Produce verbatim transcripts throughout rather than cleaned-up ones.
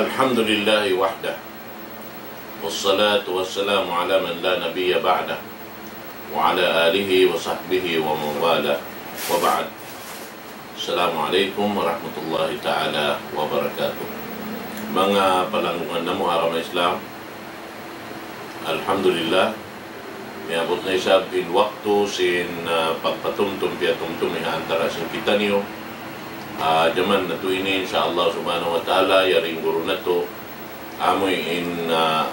الحمد لله وحده، والصلاة والسلام على من لا نبي بعده، وعلى آله وصحبه ومن والاه، وبعد. السلام عليكم ورحمة الله تعالى وبركاته. Manga palanggungan namu' ha agama Islam, alhamdulillah, miyabut na isab in waktu sin, ah, pagpatumtum piyatumtum ha antara' sin kitaniyu. Ah, jaman natu' ini, insya Allah subhanahu wa ta'ala, yari in guru natu', amu in, ah,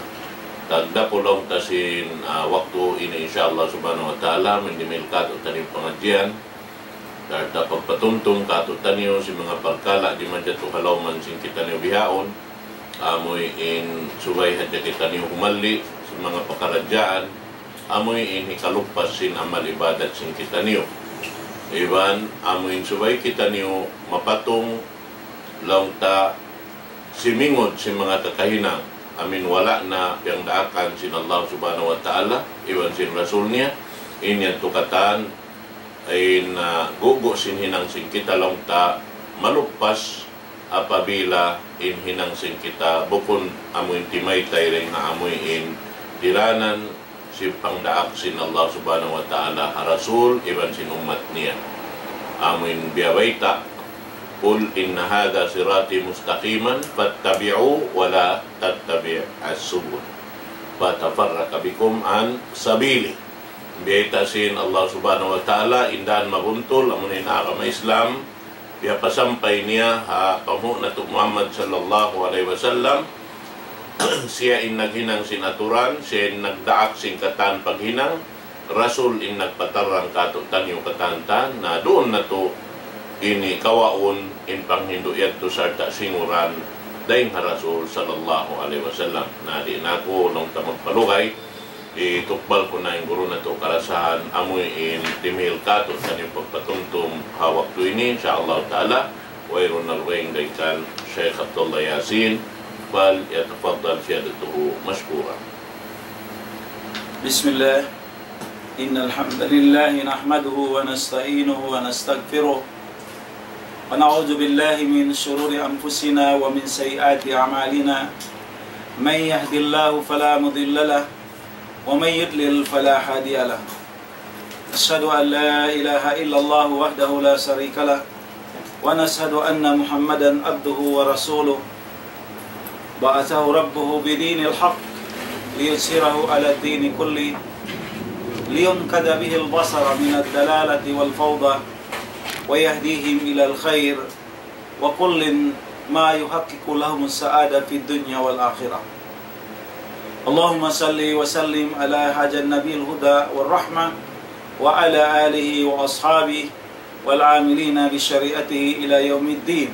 tagdapu laung ta sin, ah, waktu ini, insya Allah subhanahu wa ta'ala, mindimil katu'taniyu pangadjian. Sarta' pagpatumtum katu'taniyu sin manga parkala' di' majatu ha lawman sin kitaniyu bihaun. Amu in subay hadja kitaniyu humalli' sin manga pakaradjaan. Amu in hikaluppas sin amal ibadat sin kitaniyu. Iban amu in subay kitaniyu mapatung laung ta simingud sin manga kakahinang, amu in wala' na piyagdaakan sin Allah subhanahu wa ta'ala, iban sin Rasul niya, in yan tukatan, in, ah, gugu' sin hinang sin kita laung ta maluppas apabila in hinang sin kita bukun amu in timaytay dayn ha amu in diranan sin pangdaak sin Allah subhanahu wa ta'ala ha Rasul iban sin ummat niya. Amu in biyabayta', قل إن هذا صراطي مستقيما فاتبعوه ولا تتبعوا السبل فتفرق بكم عن سبيله. Biyayta' sin Allah subhanahu wa ta'ala in dan mabuntul, amu in agama Islam, biya' pasampay niya ha panghu' natu' Muhammad sallallahu alayhi wasallam, siya in naghinang sin aturan, siya in nagdaak sin katan paghinang, Rasul in nagpatarrang katu'taniyu katan-katan, na duun natu' ini kawaun in panghindu' yadtu sarta' singuran dayn ha Rasul sallallahu alayhi wasallam. Na di' na aku laung ta magpalugay, itukbal ku na in guru natu' karasahan, amu in dimihil katu'taniyu pagpatumtum ha waktu ini, insya Allah ta'ala, wayruun na dugaing dayn kan Sheikh Abdullah Yasin, فليتفضل سيادته مشكورا. بسم الله. إن الحمد لله نحمده ونستعينه ونستغفره، ونعوذ بالله من شرور أنفسنا ومن سيئات أعمالنا. من يهد الله فلا مضل له، ومن يضلل فلا هادي له. أشهد أن لا إله إلا الله وحده لا شريك له، ونشهد أن محمدا عبده ورسوله، بعثه ربه بدين الحق ليظهره على الدين كله، لينقذ به البشر من الضلالة والفوضى، ويهديهم إلى الخير، وكل ما يحقق لهم السعادة في الدنيا والآخرة. اللهم صل وسلم على هذا النبي الهدى والرحمة وعلى آله وأصحابه والعاملين بشريعته إلى يوم الدين.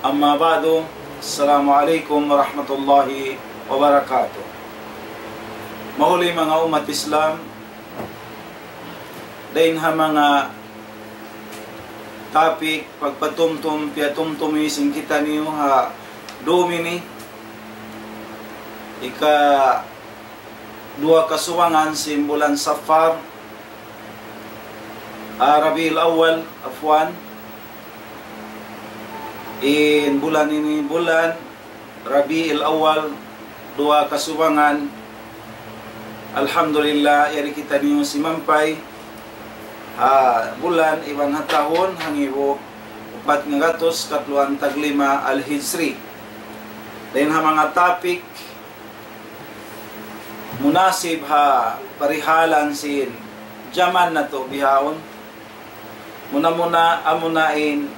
أما بعد، السلام عليكم ورحمة الله وبركاته. Mahuli manga ummat Islam, dayn ha manga topic pagpatumtum piyatumtumi sin kitaniyu ha dum ini, ika duwa kasubangan sin bulan Safar, ah, Rabiul Awwal, afwan, in bulan ini, bulan Rabiul Awwal, duwa kasubangan. Alhamdulillah, yari kitaniyu simampay ha bulan iban ha tahun hangibu upat ngagatus katluan taglima al-Hijri. Dayn ha manga topic munasib ha parihalan sin jaman natu' bihaun. Muna-muna, amuna in,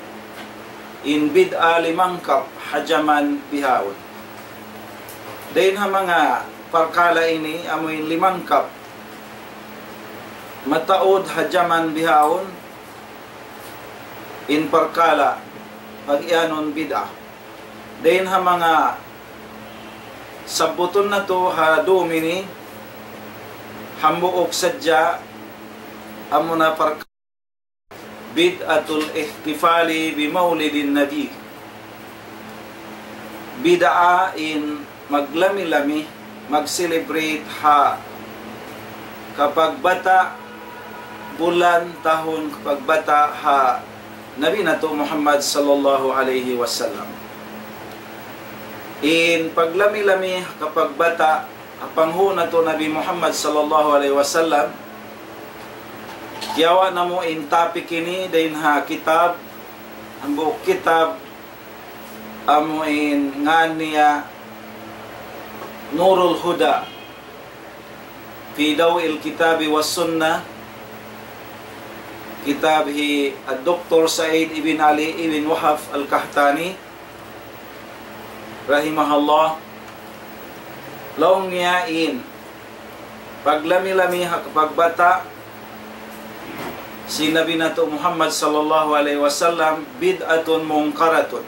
in bid'a limangkap ha jaman bihaun. Dayn ha manga parkala' ini, amu in limangkap mataud ha jaman bihaun, in parkala' pag-iyanun bid'a. Dayn ha manga sabbutun natu' ha dum ini, hambuuk sadja, amuna parkala' بدعة الاحتفال بمولد النبي. Bid'a in maglami-lami, mag-celebrate ha kapagbata' bulan tahun kapagbata' ha Nabi natu' Muhammad sallallahu alayhi wasallam. In paglami-lami ha kapagbata' ha panghu' natu' Nabi Muhammad sallallahu alayhi wasallam, kiyawa' namu' in topic ini dayn ha kitab, hambuuk kitab, amu in ngān niya Nurul Huda fi Daw'il Kitabi was Sunnah, kitab hi Doktor Said ibn Ali ibn Wahab Al-Qahtani, rahimahullah. Laung niya in paglami-lami ha kapagbata' sin Nabi natu' Muhammad sallallahu alayhi wasallam, bid'atun munkaratun.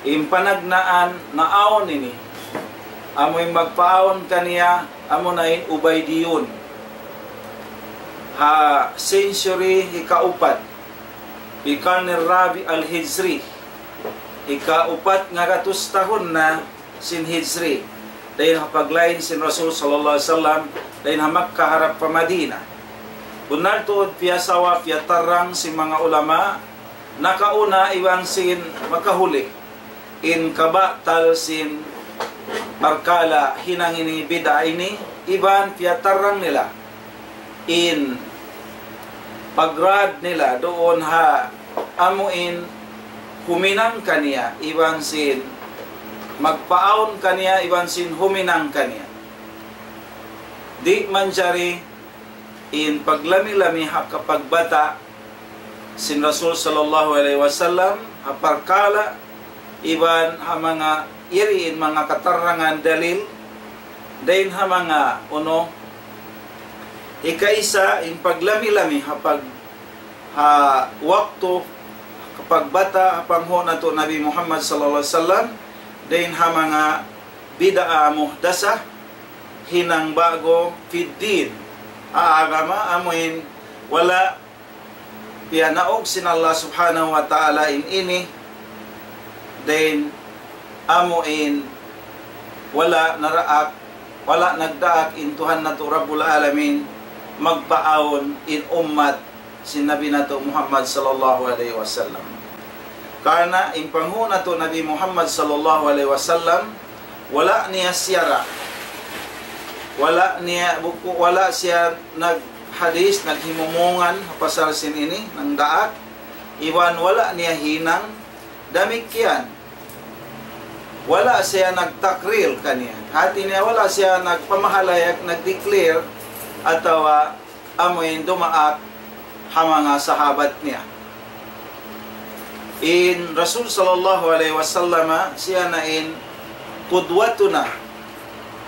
In panagnaan naawn ini, amu in magpaawn kaniya, amu na in Ubaydiyun. Ha century hikaupat, fi qarni rabi' al-hijri, hikaupat ngagatus tahun na sin hijri, dayn ha paglain sin Rasul sallallahu alayhi wasallam, dayn ha Makkah harap pa Madinah. Bunnal tuud piyasawa, piyatarrang sin manga ulama nakauna iban sin makahuli in kabatal sin parkala' hinang ini, bid'a ini, iban piyatarrang nila in pagrad nila duun ha amu in huminang kaniya iban sin magpaawn kaniya iban sin huminang kaniya. Di' manjari in paglami-lami ha kapagbata' sin Rasul sallallahu alayhi wasallam ha parkala' iban ha manga iri in manga katarrangan dalil, dayn ha manga unu, hikaisa in paglami-lami ha pag-, ha waktu kapagbata' ha panghu' natu' Nabi Muhammad sallallahu alayhi wasallam, dayn ha manga bid'a muhdasah, hinang ba'gu fid din, ha agama, amu in wala' piyanaug sin Allah subhanahu wa ta'ala in ini, dayn amu in wala' naraak, wala' nagdaak in Tuhan natu' Rabbul Alamin magpaawn in ummat sin Nabi natu' Muhammad sallallahu alayhi wasallam. Karna' in panghu' natu' Nabi Muhammad sallallahu alayhi wasallam, wala' niya siyara', wala' niya buku, wala' siya naghadis, naghimumungan ha pasal sin ini, nagdaak, iban wala' niya hinang, damikkiyan wala' siya nagtakrir kaniya. Hati niya wala' siya nagpamahalayag, nag-declare, atawa amu in dumaak ha manga sahabat niya. In Rasul sallallahu alayhi wasallam, siya na in qudwatuna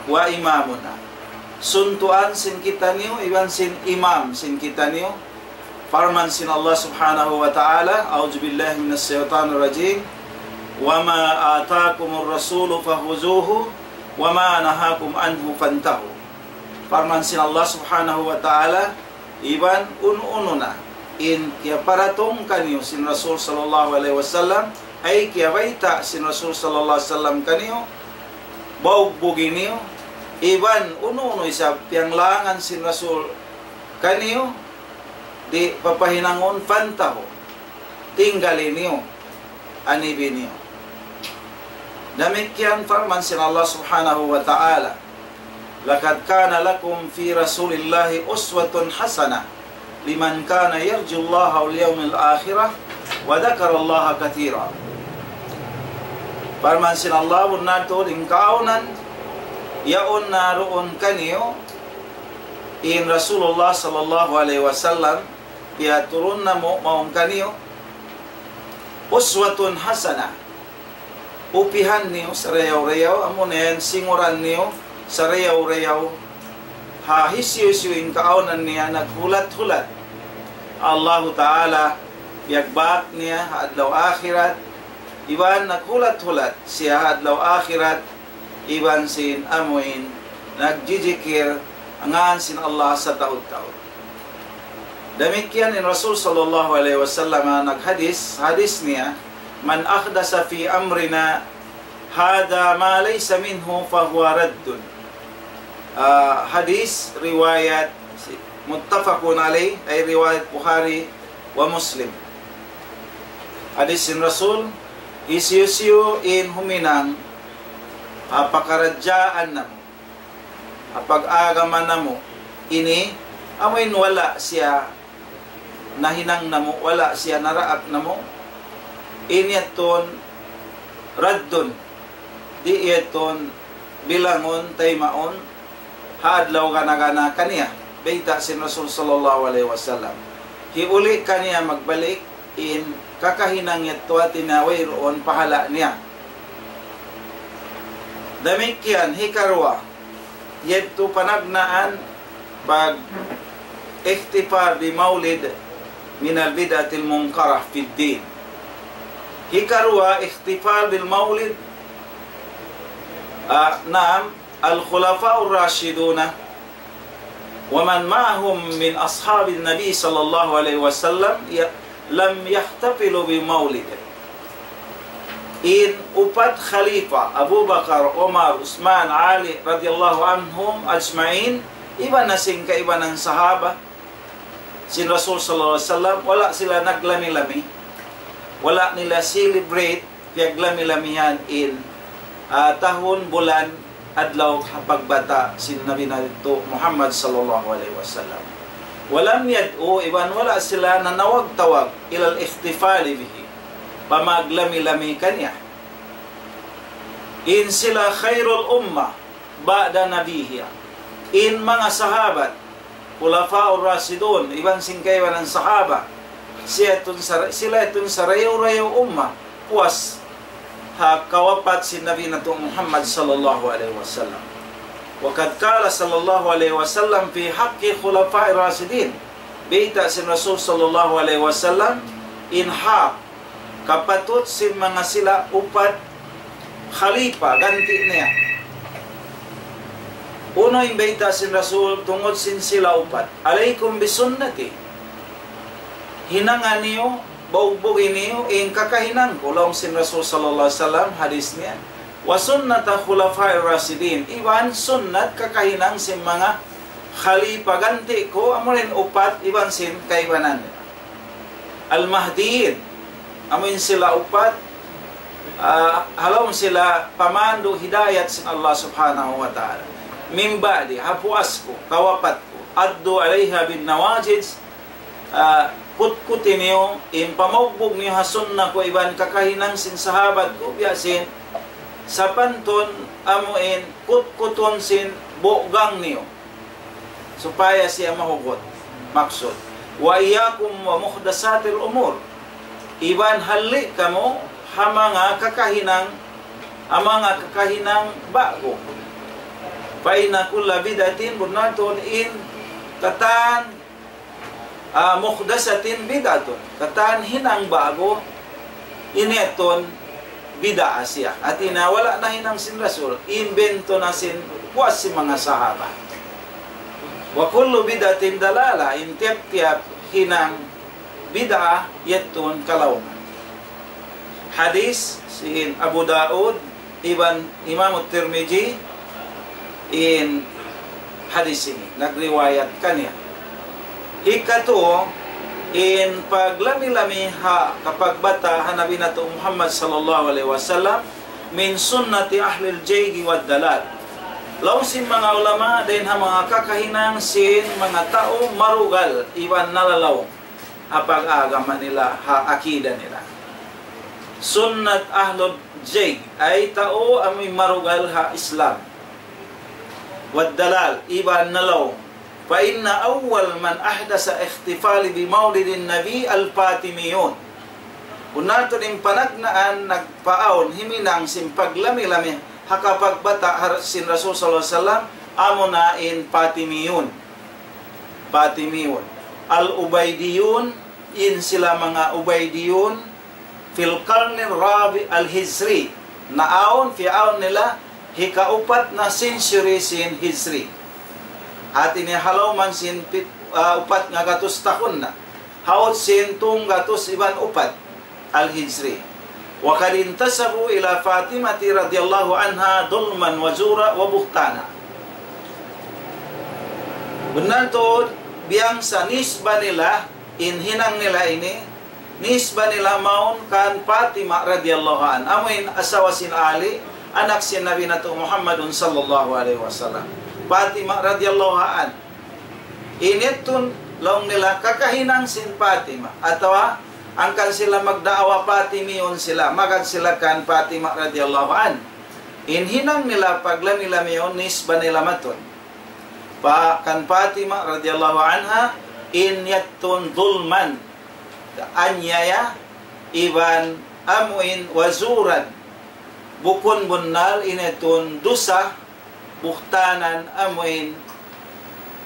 wa imamuna. Suntuan sin kitaniyu, iban sin imam sin kitaniyu. Parman sin Allah subhanahu wa ta'ala, أعوذ بالله من الشيطان الرجيم. وما آتاكم الرسول فخذوه وما نهاكم عنه فانتهوا. Parman sin Allah subhanahu wa ta'ala, iban unu-unu na in kiyaparatung kaniyu sin Rasul sallallahu alayhi wasallam, ay kiyabayta' sin Rasul sallallahu alayhi wasallam kaniyu, bugbugi niyu, iban unu-unu isab piyanglangan sin Rasul kaniyu, di' papahinangun, فانتهوا, tinggali niyu, anibi niyu. Damikkiyan parman sin Allah subhanahu wa ta'ala, لقد كان لكم في رسول الله أسوة حسنة لمن كان يرجو الله واليوم الآخر وذكر الله كثيرا. Parman sin Allah, bunnal tuud in kaawnan, yaun na duun kaniyu in Rasulullah sallallahu alayhi wasallam, piyaturun namu' mawn kaniyu, uswatun hasanah, upihan niyu sarayaw-rayaw, amu na yan singuran niyu sarayaw-rayaw, ha hisiyu-siyu in kaawnan niya naghulat-hulat Allahu Ta'ala, piyagbak niya ha adlaw akhirat, iban naghulat-hulat siya ha adlaw akhirat, iban sin amuin nagjijikir ha ngān sin Allah sataud-taud. Damikkiyan in Rasul sallallahu alayhi wasallam naghadis, hadis niya, من أحدث في أمرنا هذا ما ليس منه فهو رد. Ah, hadis riwayat muttafaqun alayh, ay riwayat Bukhari wa Muslim. Hadis sin Rasul, Hisiyu-siyu in huminang ha pakaradjaan namu', ha pag-agama namu', ini amuin wala' siya nahinang namu', wala' siya naraak namu', in yadtu raddun, di' yadtu bilangun, taymaun ha adlaw gana-gana kaniya. Bayta' sin Rasul sallallahu alayhi wasallam, hiuli' kaniya magbalik in kakahinang yadtu, hati niya wayruun pahala' niya. Damikkiyan hikaruwa, yadtu panagnaan pag-ihtifal bi maulid minal bid'atil munkarah fid din. Hikaruwa, ihtifal bil maulid, ah, naam, al-khulafa'ur rashiduna wa man ma'ahum min ashabin nabi sallallahu alayhi wasallam ya-, lam yahtafilu bi maulid. In upat khalifa, Abu Bakar, Umar, Usman, Ali radiyallahu anhum ajma'in, iban na sin kaibanan sahaba sin Rasul sallallahu alayhi wasallam, wala' sila naglami-lami, wala' nila celebrate, piyaglami-lamihan in, ah, tahun, bulan, adlaw ha pagbata' sin Nabi natu' Muhammad sallallahu alayhi wasallam. Walam yad'u, iban wala' sila nanawag-tawag, ilal ihtifali bihi, pa maglami-lami kaniya. In sila khairul ummah ba'da nabiha. In manga sahabat, khulafa'ur rashidun, iban sin kaibanan sahaba, sila yadtu sar-, sila yadtu sarayaw-rayaw ummah, puas ha kawapat sin Nabi natu' Muhammad sallallahu alayhi wasallam. Wa qad qala sallallahu alayhi wasallam fi haqqi khulafa'ir rashidin. Bayta' sin Rasul sallallahu alayhi wasallam in hak kapatut sin manga sila upat khalifa ganti' niya. Unu in bayta' sin Rasul tungud sin sila upat? Alaykum bi sunnati. Hinanga niyu, baugbug niyu in kakahinang ku, laung sin Rasul sallallahu alayhi wasallam, hadis niya. Wa sunnata khulafa'ir rashidin. Iban sunnat kakahinang sin manga khalifa ganti' ku, amuin upat iban sin kaibanan nila. Al-Mahdiyin, amuin sila upat, ah, ha lawm sila pamandu' hidayat sin Allah Subhanahu wa Ta'ala. Min ba'di, ha puas ku, kawapat ku, addu alayha bin nawajid, ah, kutkuti niyu, in pamaugbug niyu ha sunnah ku iban kakahinang sin sahabat ku, biya' sin sapantun amuin kutkutun sin bugang niyu. Supaya siya mahugut. Maksud. Wa iyyakum wa muhdathatil umur. Iban halli' kamu ha manga kakahinang, ha manga kakahinang ba'gu. Fa inna kulla bid'atin, bunnal tuud in katan, ah, muhdathatin bid'atun. Katan hinang ba'gu, ini yadtu bid'ah siya. Hati niya wala' nahinang sin Rasul, imbento na sin puas sin manga sahaba. Wa kullu bid'atin dalalah, in tiyap-tiyap hinang bid'ah yadtu kalawman. Hadis sin Abu Daud iban Imam Tirmidhi in hadis ini, nagriwayat kaniya. Hikatu, in paglami-lami ha kapagbata' ha Nabi natu' Muhammad sallallahu alayhi wasallam, min sunnati ahlil zaygi wad dalal. Laung sin manga ulama, dayn ha manga kakahinang sin manga tau marugal iban nalalaw ha pag-agama nila, ha akida nila. Sunnat ahlul zayg, ay tau amuin marugal ha Islam. Wad dalal, iban nalaw. Fa inna awwal man ahdasa ihtifali bi maulidin nabi al-Fatimiyun. Bunnal tuud in panagnaan nagpaawn himinang sin paglami-lami ha kapagbata' ha sin Rasul sallallahu alayhi wasallam, amuna in Fatimiyun. Fatimiyun. Al-Ubaydiyun, in sila manga Ubaydiyun, fil qarnir rabi' al-hijri. Naawn, piyaawn nila, hikaupat na century sin Hijri. Hati niya ha lawm sin pit-, ah, upat ngagatus tahun na. Haut sin tunggatus iban upat al-Hijri. Wa qad intasabu ila Fatimati radiyallahu anha dhulman wa zura wa buhtana. Bunnal tuud, biyangsa nisba nila, in hinang nila ini, nisba nila mawn kan Fatima radiyallahu anha. Amuin asawa sin Ali, anak sin Nabi natu' Muhammadun sallallahu alayhi wasallam. Fatima radiyallahu anha. Ini tuud laung nila kakahinang sin Fatima. Atawa hangkan sila magdaawa Fatimiyun sila, magad sila kan Fatima radiyallahu anha. In hinang nila paglami-lami yaun nisba nila matun pa kan Fatima radiyallahu anha, in yadtu zulman, aniaya, iban amuin wa zuran, bukun bunnal, in yadtu dusa, buhtanan, amuin,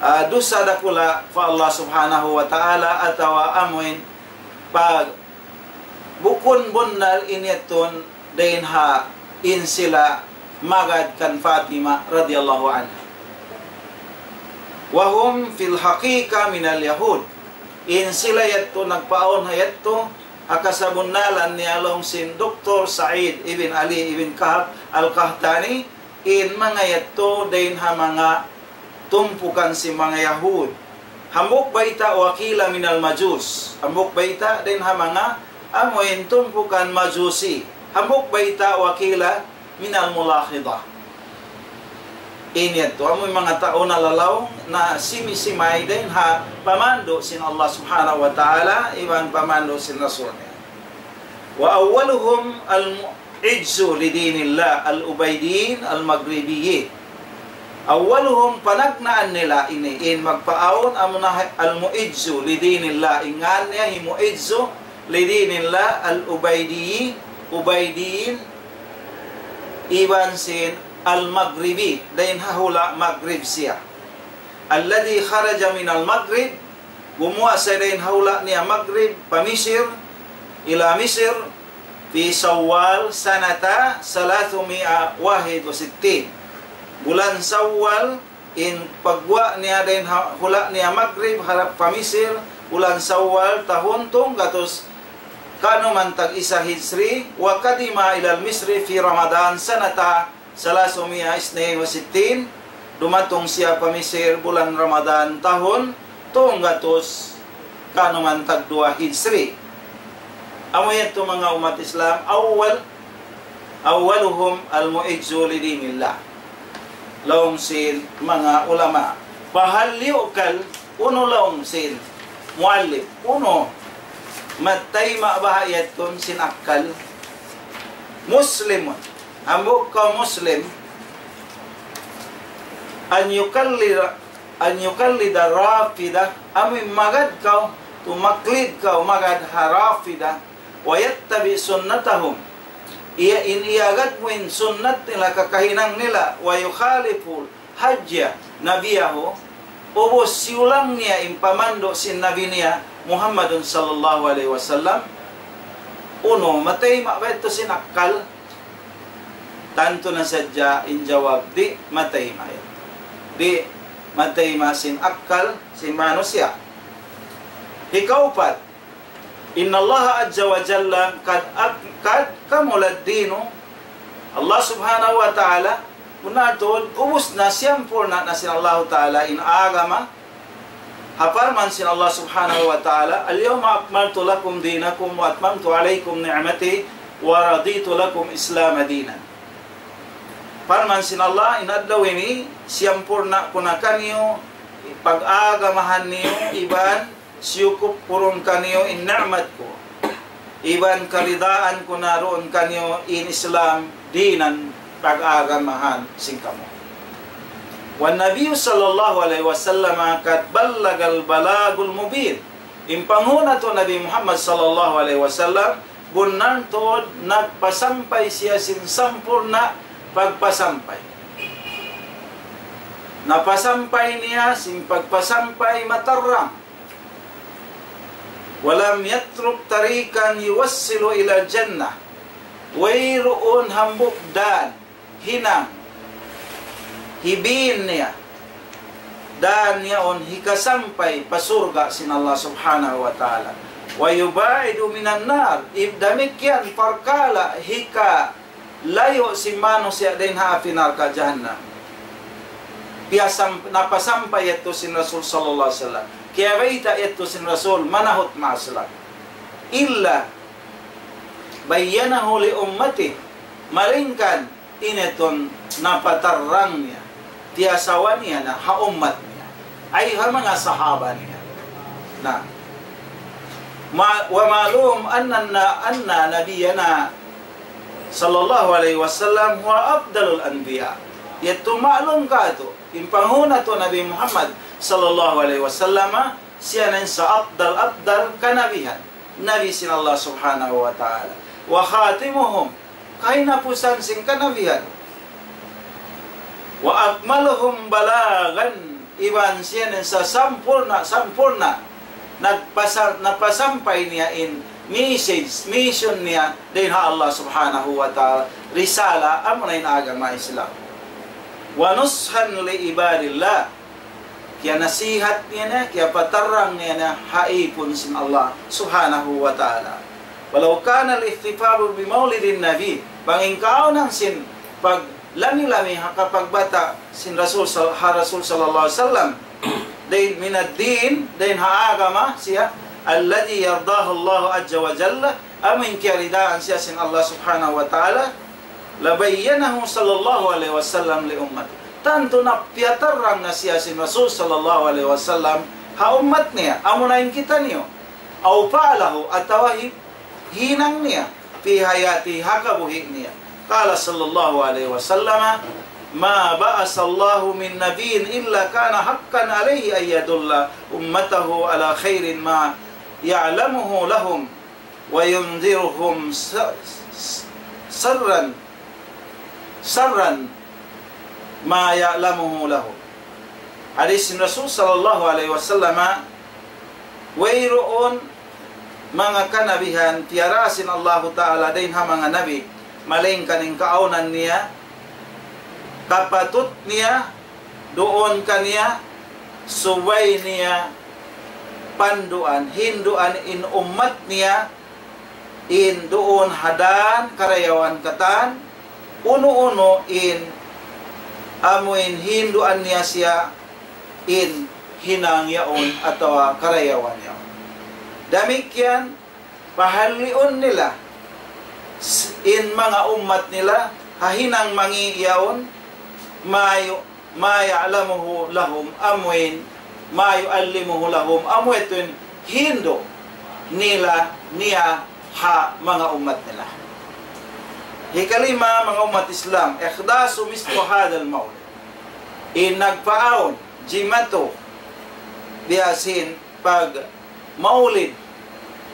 ah, dusa dakula' pa Allah Subhanahu wa Ta'ala, atawa amuin pag bukun bunnal in yadtu dayn ha in sila magad kan Fatima radiyallahu anha. وهم في الحقيقة من اليهود. In sila yadtu nagpaawn ha yadtu, ha kasabunnalan niya laung sin Doktor Said ibn Ali ibn Kahab Al-Qahtani, in manga yadtu dayn ha manga tumpukan sin manga Yahud. Hambuuk bayta' وقيل من المجوس. Hambuuk bayta' dayn ha manga amuin tumpukan Majusi. Hambuuk bayta' وقيل من الملاحضة. In yadtu, amuin manga tau nalalaung na simi-simay dayn ha pamandu' sin Allah Subhanahu wa Ta'ala, iban pamandu' sin Rasul niya. وأولهم المعز لدين الله العبيديين المغربيين. أولهم, panagnaan nila ini, in magpaawn, amuna المعز لدين الله, in ngan niya hi Mu'izzu لدين الله العبيديين, Ubaydiyin, iban sin Al-Maghribi, dayn ha hula' Maghrib siya. الذي خرج من المغرب, gumuwa' siya dayn ha hula' niya Maghrib, pa Misir, إلى مصر، في شوال سنة ثلاثمائة وواحد وستين. Bulan Sawwal, in pagguwa' niya dayn ha hula' niya Maghrib harap pa Misir, bulan Sawwal, tahun tunggatus kanuman tag-isa Hijri, وقدم إلى مصر في رمضان سنة ثلاثمائة واثنين وستين, dumatung siya pa Misir bulan Ramadan tahun tunggatus kanuman tagduwa Hijri. Amu yadtu manga ummat Islam, أول، أولهم المعز لدين الله. Laung sin manga ulama. فهل يعقل, unu laung sin muallif, unu, matayma' baha' yadtu sin akkal? مسلم, hambuuk kaw Muslim, أن يقلد، أن يقلد الرافضة, amu in magad kaw, tumaklid kaw magad ha Rafida, ويتبع سنتهم, iya in iyagad mu in sunnat nila, kakahinang nila, ويخالف هدي نبيه, ubus siyulang niya in pamandu' sin Nabi niya, Muhammadun sallallahu alayhi wasallam, unu, matayma' ba yadtu sin akkal? Tantu na sadja in jawab, di' matayma' yadtu. Di' matayma' sin akkal sin manusiya'. Hikaupat, إن الله عز وجل قد أك-، قد كمل الدين. Allah Subhanahu wa Ta'ala, bunnal tuud, ubus na, siyampurna' na sin Allahu Ta'ala in agama. Ha parman sin Allah Subhanahu wa Ta'ala, اليوم أكملت لكم دينكم وأتممت عليكم نعمتي ورضيت لكم الإسلام دينا. Parman sin Allah, in adlaw ini, siyampurna' ku na kaniyu, pag-agamahan niyu, iban siyukup ku duun kaniyu in ni'mat ku, iban karidaan ku na duun kaniyu in Islam دينا, pag-agamahan sin kamu. والنبي صلى الله عليه وسلم قد بلغ البلاغ المبين. In panghu' natu' Nabi Muhammad sallallahu alayhi wasallam, bunnal tuud nagpasampay siya sin sampurna' pagpasampay. Napasampay niya sin pagpasampay matarrang. ولم يترك طريقا يوصل إلى الجنة. Wayruun hambuuk dan hinang, hibin niya, dan yaun hikasampay pa surga' sin Allah Subhanahu wa Ta'ala. ويباعد من النار. Damikkiyan parkala' hikalayu' sin manusiya' dayn ha api narka' jahannam. Piyasam-, napasampay yadtu sin Rasul sallallahu alayhi wasallam. Kiyabayta' yadtu sin Rasul, manahut maas lag. إلا بينه لأمته, malaingkan in yadtu napatarrang niya, tiyasawa niya na ha ummat niya, ay ha manga sahaba niya. Na, ma-, ومعلوم أن, أن نبينا صلى الله عليه وسلم هو أفضل الأنبياء. Yadtu ma'lum katu', in panghu' natu' Nabi Muhammad sallallahu alayhi wasallam, siya na in sa afdal-afdal kanabihan, nabi sin Allah Subhanahu wa Ta'ala. وخاتمهم, kahinapusan sin kanabihan. وأكملهم بلاغا, iban siya na in sa sampurna', sampurna', nagpasa-, napasampay niya in message, mission niya dayn ha Allah Subhanahu wa Ta'ala, risala, amuna in agama Islam. ونصحا لعباد الله, kiyanasihat niya na, kiyapatarrang niya na ha īpun sin Allah Subhanahu wa Ta'ala. ولو كان الاحتفال بمولد النبي, bang in kaawnan sin paglami-lami ha kapagbata' sin Rasul sal-, ha Rasul sallallahu alayhi wasallam, dayn من الدين, dayn ha agama siya, الذي يرضاه الله عز وجل, amu in kiyaridaan siya sin Allah Subhanahu wa Ta'ala, لبينه صلى الله عليه وسلم لأمته. Tantu na piyatarrang na siya sin Rasul sallallahu alayhi wasallam ha ummat niya, amuna in kitaniyu. أو فعله, atawa hi-, hinang niya, في حياته, ha kabuhi' niya. قال صلى الله عليه وسلم: ما بعث الله من نبي إلا كان حقا عليه أن يدل أمته على خير ما يعلمه لهم وينذرهم س-، س-، سرا، سرا ما يعلمه لهم. Hadis sin Rasul sallallahu alayhi wasallam, wayruun manga kanabihan piyara sin Allahu Ta'ala dayn ha manga nabi, malaingkan in kaawnan niya, kapatut niya, duun kaniya, subay niya panduan, hinduan in ummat niya, in duun ha dan karayawan katan, unu-unu in amuin hinduan niya siya in hinang yaun atawa karayawan yaun. Damikkiyan, pahalliun nila s-, in manga ummat nila ha hinang mangi' yaun, mayu ما يعلمه لهم, amuin ما يعلمه لهم, amu yadtu in hindu' nila niya ha manga ummat nila. Hikalima, manga ummat Islam, إحداث مثل هذا المولد. In nagpaawn, jimatu, biya' sin pag maulid,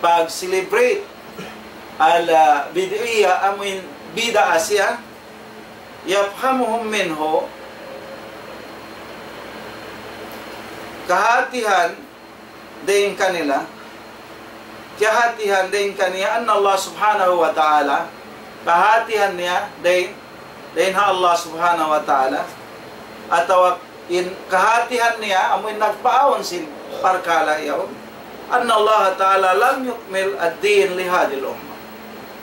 pag-celebrate, البدعية, amuin bid'a siya, يفهمهم منه, kahatihan dayn kanila, kahatihan dayn kaniya, أن الله سبحانه وتعالى, kahatihan niya dayn, dayn ha Allah Subhanahu wa Ta'ala, atawa in kahatihan niya, amu in nagpaawn sin parkala' yaun, أن الله تعالى لم يكمل الدين لهذه الأمة.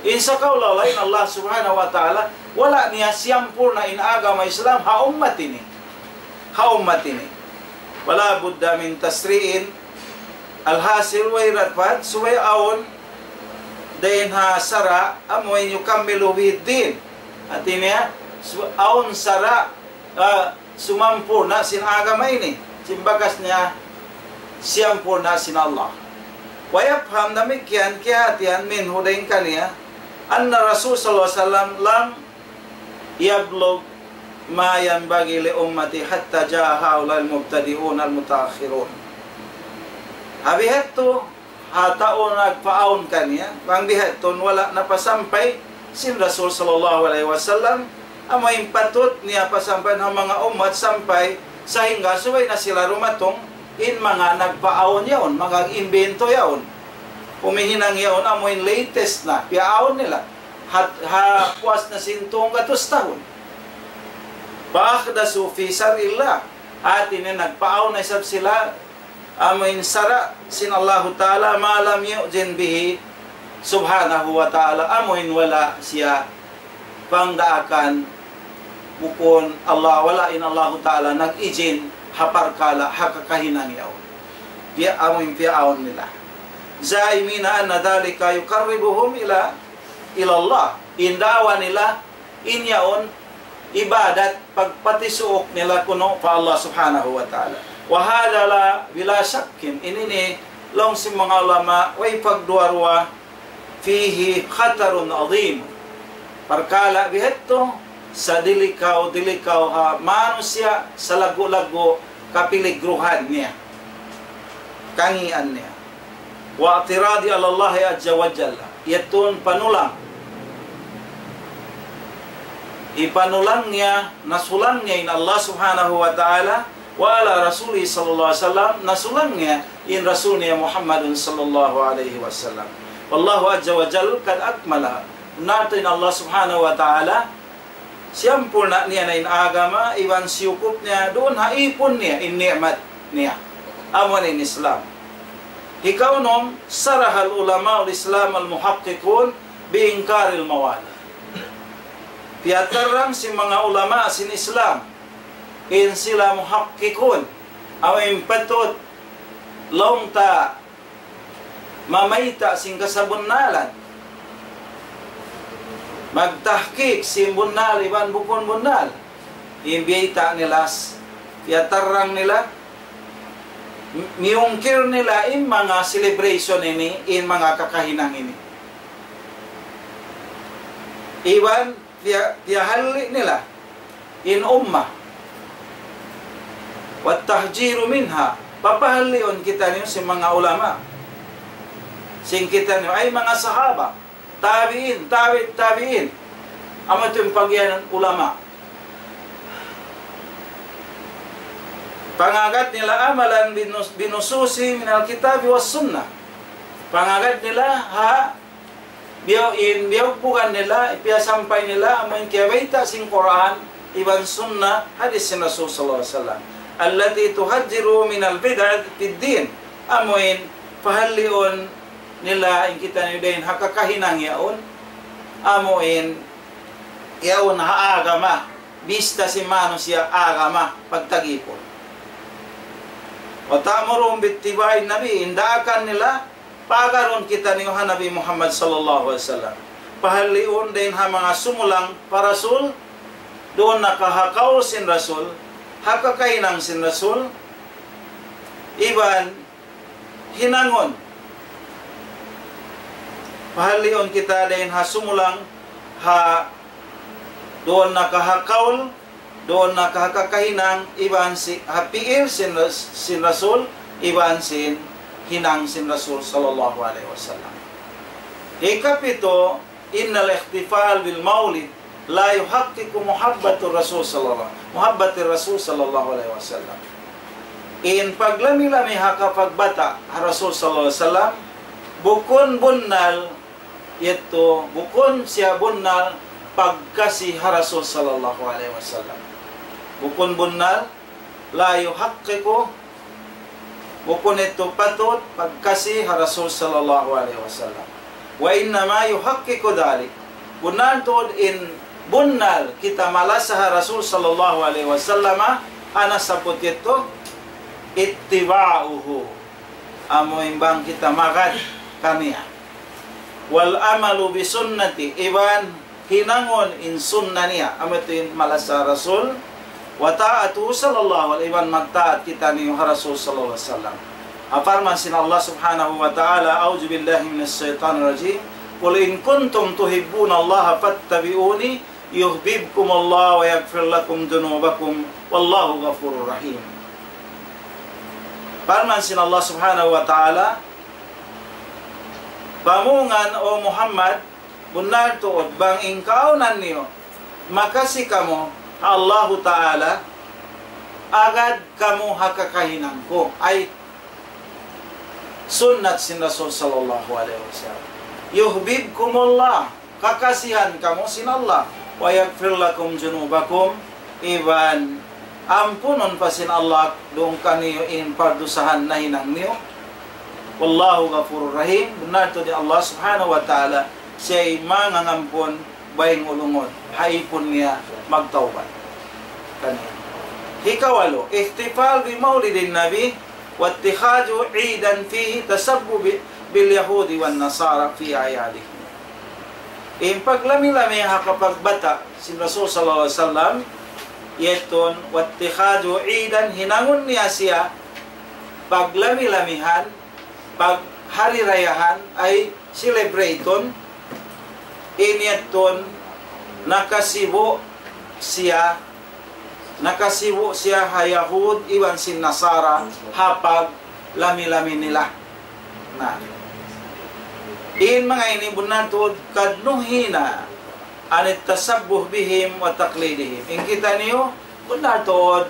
In sakaula-ula in Allah Subhanahu wa Ta'ala, wala' niya siyampurna' in agama Islam ha ummat ini. Ha ummat ini. ولا بد من تشريع. Alhasil, way dapat, subay awn dayn ha sara', amu in يكمل به الدين. Hati niya, su-, awn sara', ah, sumampurna' sin agama ini, sin bakas niya siyampurna' sin Allah. ويفهم, damikkiyan kiyahatihan, منه, dayn kaniya, أن الرسول صلى الله عليه وسلم لم يبلغ ما ينبغي لأمته حتى جاء هؤلاء المبتدعون المتأخرون. Ha bihadtu, ha tau nagpaawn kaniya, bang bihadtu wala' napasampay sin Rasul sallallahu alayhi wasallam, amu in patut niya pasampayan ha manga ummat sampay, sahingga subay na sila dumatung in manga nagpaawn yaun, manga imbento yaun. Umihinang yaun, amu in latest na, piyaawn nila. Ha, ha puas na sin tunggatus tahun. فأحدثوا في شرع الله. Hati niya nagpaawn na isab sila amu in sara' sin Allahu Ta'ala, ما لم يأذن به سبحانه وتعالى, amu in wala' siya pangdaakan, bukun Allah, wala' in Allahu Ta'ala nag-ijin ha parkala', ha kakahinang yaun. Piya-, amu in piyaawn nila. زاعمين أن ذلك يقربهم إلى إلى الله. In da'wa nila, in yaun ibadat, pagpatisuuk nila kunu' pa Allah Subhanahu wa Ta'ala. وهذا لا بلا شك, ini ini laung sin manga ulama, way pagduwa-ruwa, فيه خطر عظيم. Parkala' bihadtu, sa dilikaw, dilikaw ha manusiya', sa laggu'-laggu' kapiligruhan niya, kangian niya. واعتراض على الله عز وجل. Yadtu in panulang. Ipanulang niya, nasulang niya in Allah Subhanahu wa Ta'ala, وعلى رسوله صلى الله عليه وسلم, nasulang niya in Rasul niya Muhammadun sallallahu alayhi wasallam. والله عز وجل قد أكملها. Natu' in Allah Subhanahu wa Ta'ala, siyampurna' niya na in agama, iban siyukup niya duun ha ipun niya, in ni'mat niya. Amu in Islam. Hikaunum, صرح العلماء الإسلام المحققون بإنكار الموالد. Piyatarrang sin manga ulama sin Islam, in sila muhakkikun, amu in patut laung ta mamayta' sin kasabunnalan, magtahkik sin bunnal iban bukun bunnal. In biyayta' nila, s-, piyatarrang nila, mi-, miyungkil nila in manga celebration ini, in manga kakahinang ini. Iban piya-, piyahalli' nila in ummah. والتحذير منها. Papahalliun kitaniyu sin manga ulama. Sin kitaniyu ay manga sahaba, tabi'in, tabi'it tabi'in. Amu yadtu in pagiyanun ulama. Pangagad nila عملا بنص-، بنصوص من الكتاب والسنة. Pangagad nila ha biyaw in, biyawpugan nila, piyasampay nila, amu in kiyabayta' sin Qur'an, iban sunnah, hadith sin Rasul sallallahu alayhi wasallam. التي تحذر من البدع في الدين. Amu in pahalliun nila in kitaniyu dayn ha kakahinang yaun. Amu in yaun ha agama. Bista sin manusiya' agama pagtagipun. وتأمرهم باتباع النبي. In daakan nila, pagarun kitaniyu ha Nabi Muhammad sallallahu alayhi wasallam. Pahalliun dayn ha manga sumulang pa Rasul, duun na ka ha kaul sin Rasul, ha kakahinang sin Rasul, iban hinangun. Pahalliun kita dayn ha sumulang, ha duun na ka ha kaul, duun na ka ha kakahinang, iban si-, ha pi'il sin Ras-, sin Rasul, iban sin hinang sin Rasul sallallahu alayhi wasallam. Hikapitu, إن الاحتفال بالمولد لا يحقق محبة الرسول صلى الله، محبة الرسول صلى الله عليه وسلم. In paglami-lami ha kapagbata' ha Rasul sallallahu alayhi wasallam, bukun bunnal yadtu, bukun siya bunnal pagkasi ha Rasul sallallahu alayhi wasallam. Bukun bunnal, لا يحقق, bukun yadtu patut pagkasi ha Rasul sallallahu alayhi wasallam. وإنما يحقق ذلك. Bunnal tuud in bunnal kita malasa ha Rasul sallallahu alayhi wasallam, unu sabab yadtu, اتباعه. Amu in bang kita magad kaniya. والعمل بسنته, iban hinangun in sunnah niya, amu yadtu in malasa Rasul, وطاعته صلى الله عليه, iban magtaat kitaniyu ha Rasul sallallahu alayhi wasallam. Parman sin Allah subhanahu wa ta'ala, أعوذ بالله من الشيطان الرجيم. قل إن كنتم تحبون الله فاتبعوني يحببكم الله ويغفر لكم ذنوبكم والله غفور رحيم. Parman sin Allah subhanahu wa ta'ala, pamungan, O Muhammad, bunnal tuud bang in kaawnan niyu makasi kamu ha Allahu Ta'ala, agad kamu ha kakahinang ku, ay sunnat sin Rasul sallallahu alayhi wasallam. يحببكم الله, kakasihan kamu sin Allah. ويغفر لكم ذنوبكم, iban ampunun pa sin Allah duun kaniyu in pardusahan nahinang niyu. والله غفور رحيم, bunnal tuud in Allah subhanahu wa ta'ala, siya in mangangampun, baying ulungun, ha ipun niya magtawbat kaniya. Hikawalu, احتفال بمولد النبي واتخاذه عيدا فيه تشبه ب-، باليهود والنصارى في أعيادهم. In paglami-lami ha kapagbata' sin Rasul sallallahu alayhi wasallam, yadtu, واتخاذ عيدا, hinangun niya siya paglami-lamihan, paghari-rayahan, ay celebrate-un, in yadtu nakasibu' siya, nakasibu' siya ha Yahud iban sin Nasara ha paglami-lami nila. Na, in manga ini bunnal tuud قد نهينا عن التشبه بهم وتقليدهم. In kitaniyu bunnal tuud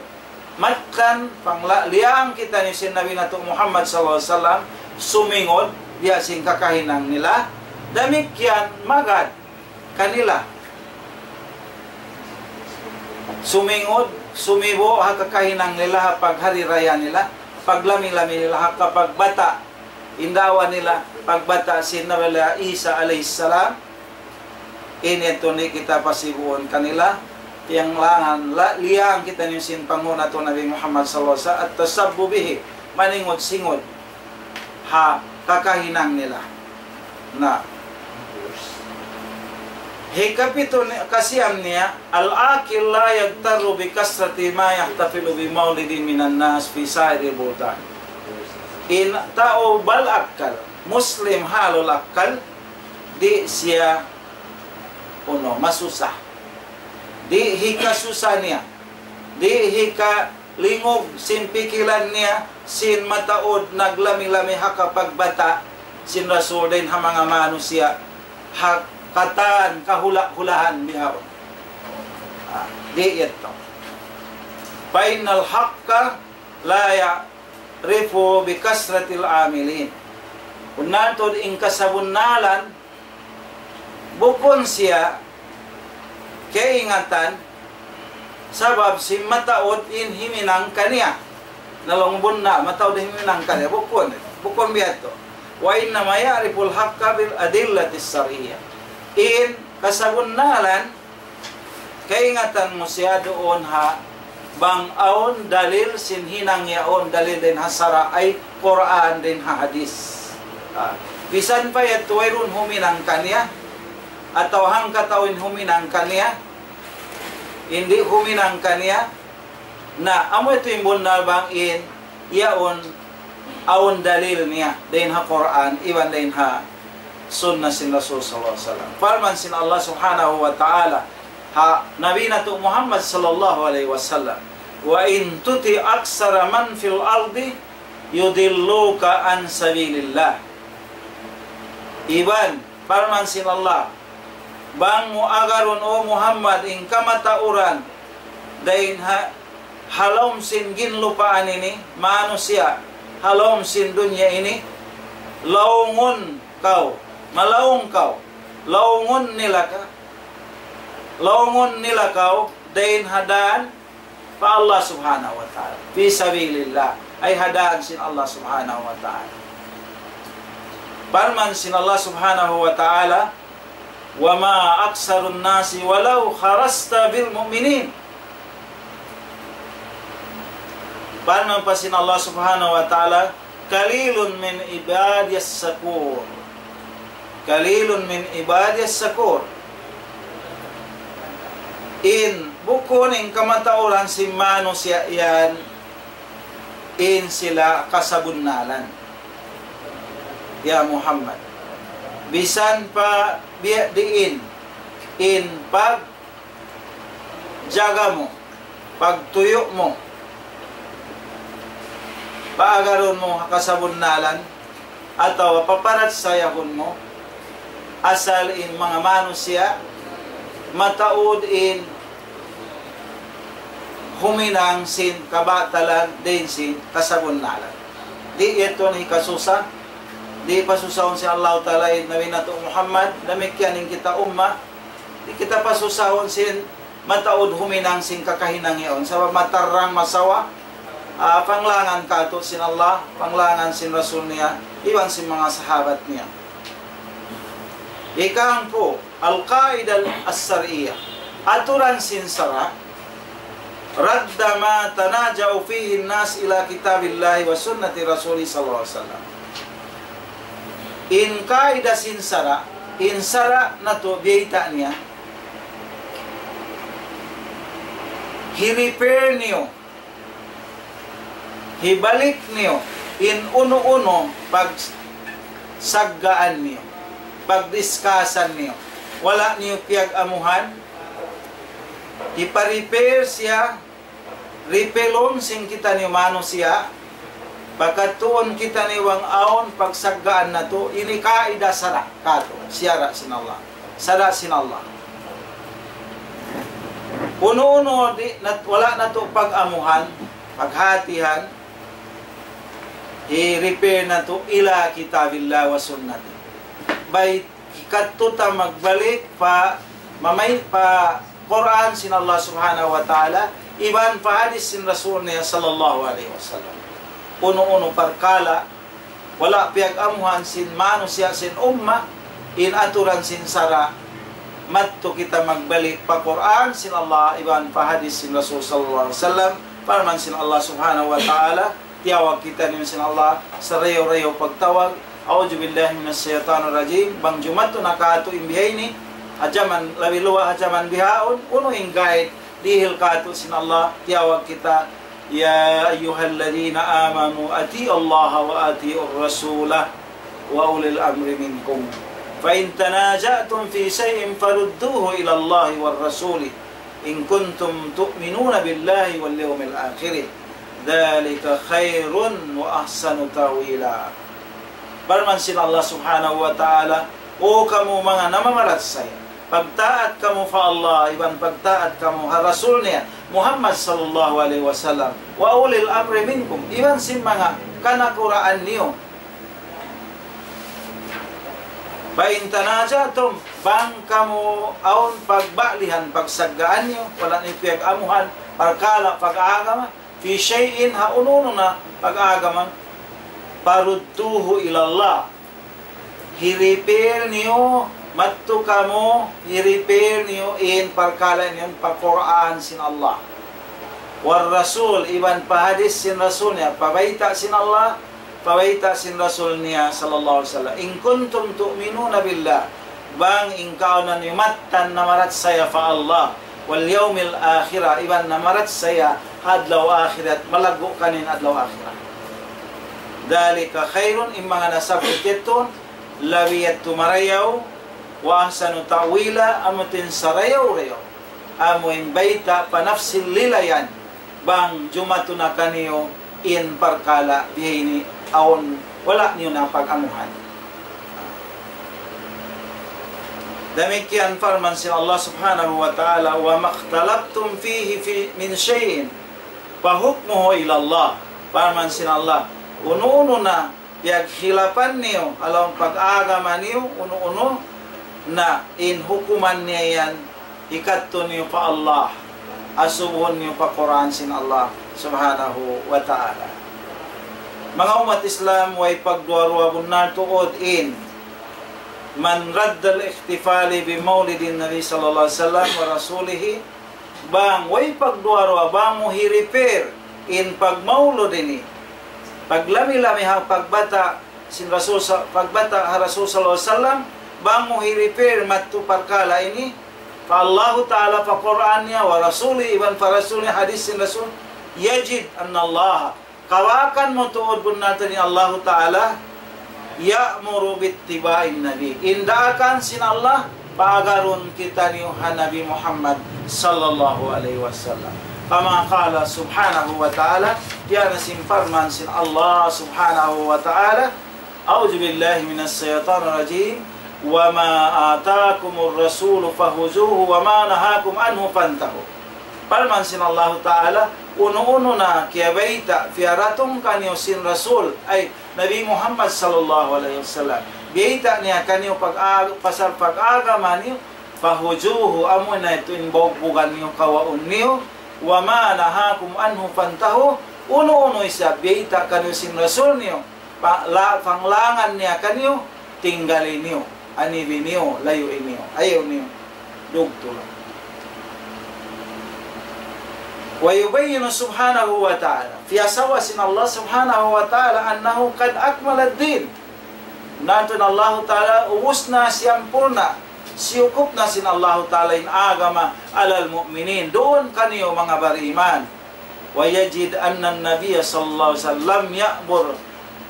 mattan pangla-, liyang kitaniyu sin Nabi natu' Muhammad sallallahu alayhi wasallam, sumingud biya' sin kakahinang nila, damikkiyan magad kanila. Sumingud, sumibu' ha kakahinang nila, ha paghari-raya nila, paglami-lami nila, ha kapagbata', in daawa nila, pagbata' sin Nabi Isa alayhi salam, in yadtu di' kita pasibuun kanila, tiyanglangan, la-, liyang kitaniyu sin panghu' natu' Nabi Muhammad sallallahu alayhi wasallam, التشبه به, maningud-singud ha kakahinang nila. Na, hikapitu ni-, kasiyam niya, العاقل لا يغتر بكثرة ما يحتفل بمولد من الناس في سائر البلدان. In tau balakkal, Muslim halul akkal, di' siya, unu, masusa. Di' hikasusa niya. Di' hikalingug sin pikilan niya, sin mataud naglami-lami ha kapagbata' sin Rasul dayn ha manga manusiya', ha katan kahula'-hulahan bihaun. Ah, di' yadtu. فإن الحق لا يعرف بكثرة العاملين. Bunnal tuud in kasabunnalan, bukun siya kaingatan, sabab sin mataud in huminang kaniya. Na laung bunnal, mataud in huminang kaniya. Bukun, bukun biya' yadtu. وإنما يعرف الحق بالأدلة الشرعية. In kasabunnalan, kaingatan mu siya duun ha bang awn dalil sin hinang yaun, dalil dayn ha sara', ay Qur'an dayn ha hadith. Ah, misan pa yadtu wayruun huminang kaniya, atawa hangkatau in huminang kaniya, di' huminang kaniya, na amu yadtu in bunnal bang in yaun awn dalil niya dayn ha Qur'an iban dayn ha sunnah sin Rasul sallallahu alayhi wasallam. Parman sin Allah subhanahu wa ta'ala ha Nabi natu' Muhammad sallallahu alayhi wasallam, وإن تطع أكثر من في الأرض يضلوك عن سبيل الله. Iban, parman sin Allah, bang mu agarun, O Muhammad, in kamatauran dayn ha, ha lawm sin ginlupaan ini, manusiya', ha lawm sin dunya ini, laungun kaw, malaung kaw, laungun nila ka, laungun nila kaw dayn ha dan pa Allah subhanahu wa ta'ala. في سبيل الله. Ay ha dan sin Allah subhanahu wa ta'ala. Parman sin Allah subhanahu wa ta'ala, وما أكثر الناس ولو حرصت بمؤمنين. Parman pa sin Allah subhanahu wa ta'ala, قليل من عبادي الشكور. قليل من عبادي الشكور. In, bukun in kamatauran sin manusiya' yan, in sila kasabunnalan. Ya Muhammad, misan pa biya' diin in pag jaga mu, pagtuyu' mu, paagarun mu ha kasabunnalan, atawa paparachayahun mu, asal in manga manusiya' mataud in huminang sin kabatalan dayn sin kasabunnalan. Di' yadtu in hikasusa, di' pasusahun sin Allahu Ta'ala in Nabi natu' Muhammad, damikkiyan in kita umma, di' kita pasusahun sin mataud huminang sin kakahinang yaun. Sabab matarrang masawa, ah, panglangan kātu' sin Allah, panglangan sin Rasul niya, iban sin manga sahabat niya. Ikahangpu', القاعدة الشرعية. Aturan sin sara', رد ما تنازع فيه الناس إلى كتاب الله وسنة رسوله صلى الله عليه وسلم. In kaidah sin sara', in sara' natu' biyayta' niya, hi-repair niyu, hibalik niyu, in unu-unu pagsaggaan niyu, pagdiskasan niyu, wala' niyu piyag-amuhan, hipa-repair siya, repair-un sin kitaniyu manusiya', pakadtuun kitaniyu bang awn pagsaggaan natu', ini kaidah sara' katu', sara' sin Allah. Sara' sin Allah. Unu-unu di', nat-, wala' natu' pag-amuhan, paghatihan, hi-repair natu' ila kitabillah wa sunnati. Bay hikadtu ta magbalik pa mamay-, pa Qur'an sin Allah Subhanahu wa Ta'ala, iban pa hadith sin Rasul niya sallallahu alayhi wasallam. Unu-unu parkala', wala' piyag-amuhan sin manusiya' sin umma, in aturan sin sara', madtu kita magbalik pa Qur'an sin Allah, iban pa hadith sin Rasul sallallahu alayhi wasallam, parman sin Allah Subhanahu wa Ta'ala, tiyawag kitaniyu sin Allah, sarayaw-rayaw pagtawag, أعوذ بالله من الشيطان الرجيم. Bang jumatu na katu' in bihaini, ha jaman labi luwa', ha jaman bihaun, unu in guide, dihil katu' sin Allah, tiyawag kita, يا أيها الذين آمنوا أطيعوا الله وأطيعوا الرسول وأولي الأمر منكم فإن تنازعتم في شيء فردوه إلى الله والرسول إن كنتم تؤمنون بالله واليوم الآخر ذلك خير وأحسن تأويلا. Parman sin Allah Subhanahu wa Ta'ala, "O kamu manga namamarachaya, pagtaat kamu pa Allah, iban pagtaat kamu ha Rasul niya, Muhammad sallallahu alayhi wasallam, وأولي الأمر منكم, iban sin manga kanakuraan niyu." فإن تنازعتم, bang kamu awn pagbalihan, pagsaggaan niyu, wala' niyu piyag-amuhan, parkala' pag-agama, في شيء, ha unu-unu na pag-agama, فردوه إلى الله. Hi-repair niyu, madtu kamu, hi-repair niyu in parkala' niyu pa Qur'an sin Allah. والرسول, iban pa hadith sin Rasul niya, pa bayta' sin Allah, pa bayta' sin Rasul niya sallallahu alayhi wasallam. إن كنتم تؤمنون بالله, bang in kaw niyu mattan namarachaya pa Allah, واليوم الآخر, iban namarachaya ha adlaw akhirat, malaggu' kaniyu in adlaw akhirat. ذلك خير, in manga nasabbut yadtu, labi yadtu marayaw, وأحسن تأويلا, amu in sarayaw-rayaw, amu in bayta' pa nafsil lilayan, bang jumatu na kaniyu in parkala' bihaini awn wala' niyu na pag-amuhan. Damikkiyan parman sin Allah Subhanahu wa Ta'ala, وما اختلفتم فيه في، من شيء فحكمه إلى الله. Parman sin Allah, unu-unu na piyaghilapan niyu, ha lawm pag-agama niyu, unu-unu na in hukuman niya yan, hikadtu niyu pa Allah, asubuhun niyu pa Qur'an sin Allah Subhanahu wa Ta'ala. Manga ummat Islam, way pagduwa-ruwa bunnal tuud in من رد الاحتفال بمولد النبي صلى الله عليه وسلم ورسوله, bang way pagduwa-ruwa, bang mu hi-repair in pagmaulud ini, paglami-lami ha pagbata' sin Rasul sa-, pagbata' ha Rasul sallallahu alayhi wasallam, bang mu hi-repair madtu parkala' ini, pa Allahu Ta'ala, pa Qur'an niya, ورسوله, iban pa Rasul niya, hadith sin Rasul, يجد أن الله, kawakan mu tuud bunnal tuud in Allahu Ta'ala, يأمر باتباع النبي. In daakan sin Allah, paagarun kitaniyu ha Nabi Muhammad sallallahu alayhi wasallam. كما قال سبحانه وتعالى, biya' na sin parman sin Allah Subhanahu wa Ta'ala, أعوذ بالله من الشيطان الرجيم. وما آتاكم الرسول فخذوه وما نهاكم عنه فانتهوا. Parman sin Allahu Ta'ala, unu-unu na kiyabayta', piyaratung kaniyu sin Rasul, ay, Nabi Muhammad sallallahu alayhi wasallam, biyayta' niya kaniyu pag-, pasal pag-agama niyu, فخذوه, amu na yadtu in bugbugan niyu, kawaun niyu, وما نهاكم عنه فانتهوا, unu-unu isab biyayta' kaniyu sin Rasul niyu, pa-, la-, panglangan niya kaniyu, tinggali niyu, anibi niyu, layui niyu, ayaw niyu dugtula. ويبين سبحانه وتعالى, piyasawa sin Allah Subhanahu wa Ta'ala, أنه قد أكمل الدين. Nantun Allahu Ta'ala, ubus na, siyampurna', siyukup na sin Allahu Ta'ala in agama, على المؤمنين, duun kaniyu manga bariman. ويجد أن النبي صلى الله عليه وسلم لم يأمر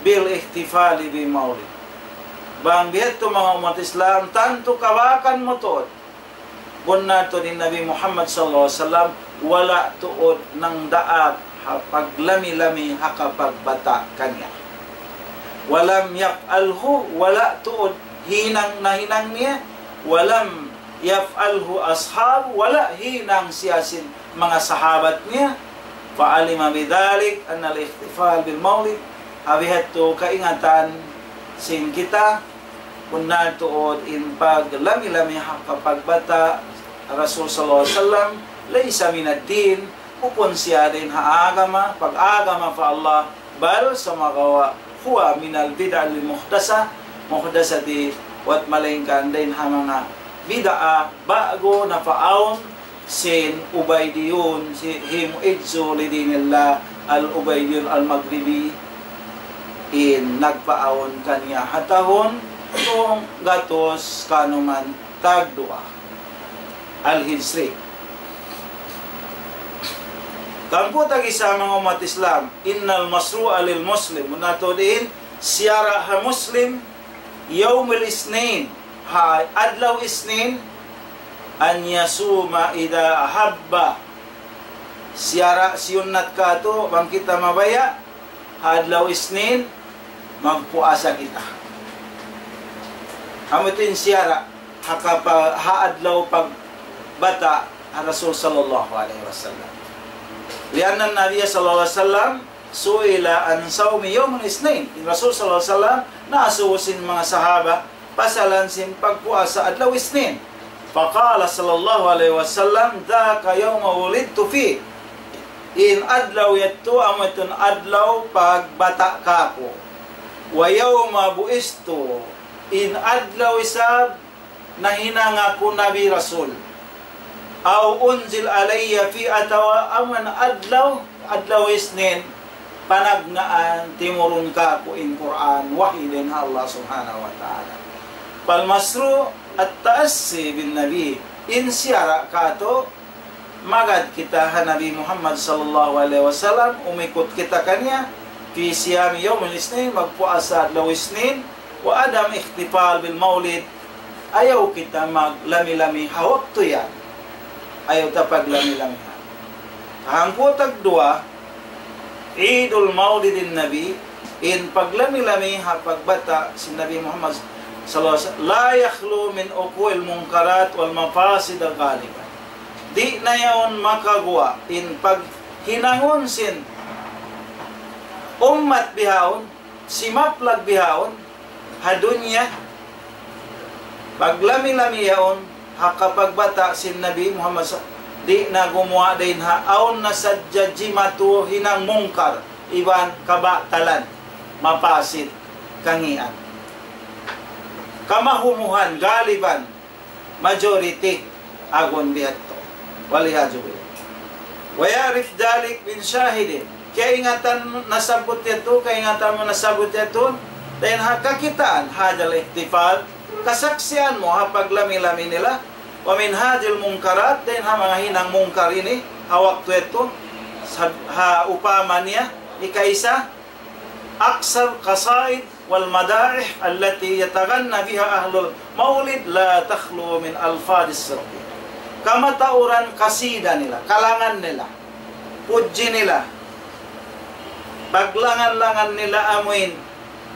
بالاحتفال بمولد. Bang biya' hādtu manga ummat Islam, tantu kabakan mu tuud. Bunnal tuud in Nabi Muhammad sallallahu alayhi wasallam, wala' tuud nagdaak ha paglami-lami ha kapagbata' kaniya. ولم يفعله, wala' tuud hinang nahinang niya, ولم يفعله أصحابه, wala' hinang siya sin manga sahabat niya. فعلم بذلك أن الاحتفال بالمولد, ha biya' hādtu kaingatan sin kita, bunnal tuud in paglami-lami ha kapagbata' Rasul sallallahu alayhi wasallam, ليس من الدين, bukun siya dayn ha agama, pag-agama pa Allah, بل, sumagawa', هو من البدع المحدثة, muhdathati, wat malaingkan dayn ha manga bid'a ba'gu napaawn sin Ubaydiyun, si him izzu li dinillah, al-Ubaydiyun al-Maghribi, in nagpaawn kaniya ha tahun tunggatus kanuman tagduwa. Al-Hijri. Hangpu' tag-isa manga ummat Islam, إن المشروع للمسلم, bunnal tuud in siyara' ha Muslim, يوم الاثنين, ha adlaw Isnin, أن يصوم إذا أحب. Siyara', siyunnat kātu', bang kita mabaya', ha adlaw Isnin, magpuasa kita. Amu yadtu in siyara', ha kapa-, ha adlaw pagbata' ha Rasul sallallahu alayhi wasallam. لأن النبي صلى الله عليه وسلم سئل عن صوم يوم الاثنين. In Rasul sallallahu alayhi wasallam, naasubu sin manga sahaba, pasalan sin pagpuasa adlaw Isnin. فقال صلى الله عليه وسلم: ذاك يوم ولدت فيه. In adlaw yadtu, amu yadtu in adlaw pagbata' kāku'. ويوم بعثت. In adlaw isab nahinang aku Nabi Rasul. أو أنزل علي فيه, atawa amu in adlaw, adlaw Isnin, panagnaan timurun kāku' in Qur'an, wahyu dayn ha Allah Subhanahu wa Ta'ala. فالمشروع التأسي بالنبي. In siyara' kātu', magad kita ha Nabi Muhammad sallallahu alayhi wasallam, umikut kita kaniya, في صيام يوم الاثنين, magpuasa adlaw Isnin, وعدم الاحتفال بالمولد, ayaw kita maglami-lami ha waktu yan. Ayaw ta paglami-lami ha. Hangpu' tagduwa, عيد مولد النبي, in paglami-lami ha pagbata' sin Nabi Muhammad sallallahu alayhi wasallam, لا يخلو من وقوع المنكرات والمفاسد غالبا. Di' na yaun makaguwa' in paghinangun sin ummat bihaun, simaplag bihaun, ha dunya, paglami-lami yaun, ha kapagbata' sin Nabi Muhammad sa-, di' na gumuwa' dayn ha, awn na sadja jimatu hinang mungkar, iban kabatalan, mapasid, kangian. Kamahumuhan, galiban, majority, agun biya' hādtu. والعياذ بالله. ويعرف ذلك من شاهد. Kaingatan nasabbut yadtu, kaingatan mu nasabbut yadtu, dayn ha kakitaan, هذا الاحتفال, kasaksian mu ha paglami-lami nila, ومن هذه المنكرات, dayn ha manga hinang mungkar ini, ha waktu yadtu, sa-, ha upama niya, ikaisa, أقصى القصائد والمدائح التي يتغنى بها أهل المولد لا تخلو من ألفاظ الشرك. Kamatauran kasida nila, kalangan nila, pudji nila, paglangan-langan nila amuin,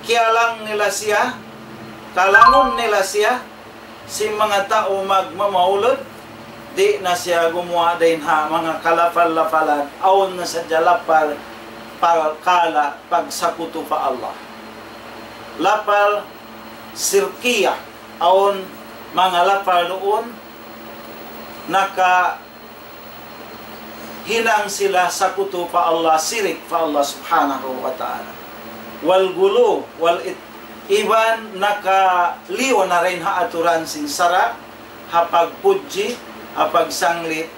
kiyalang nila siya, kalangun nila siya, sin manga tau magmamaulud, di' na siya gumuwa' dayn ha manga kalapal-lapalan, awn na sadja lapal parkala' pagsakutu pa Allah. Lapal sirkiyah, awn manga lapal duun, naka hinang sila sakutu pa Allah, sirik pa Allah Subhanahu wa Ta'ala. والغلو والإت-، iban nakaliyu na dayn ha aturan sin sara', ha pagpudji, ha pagsanglit,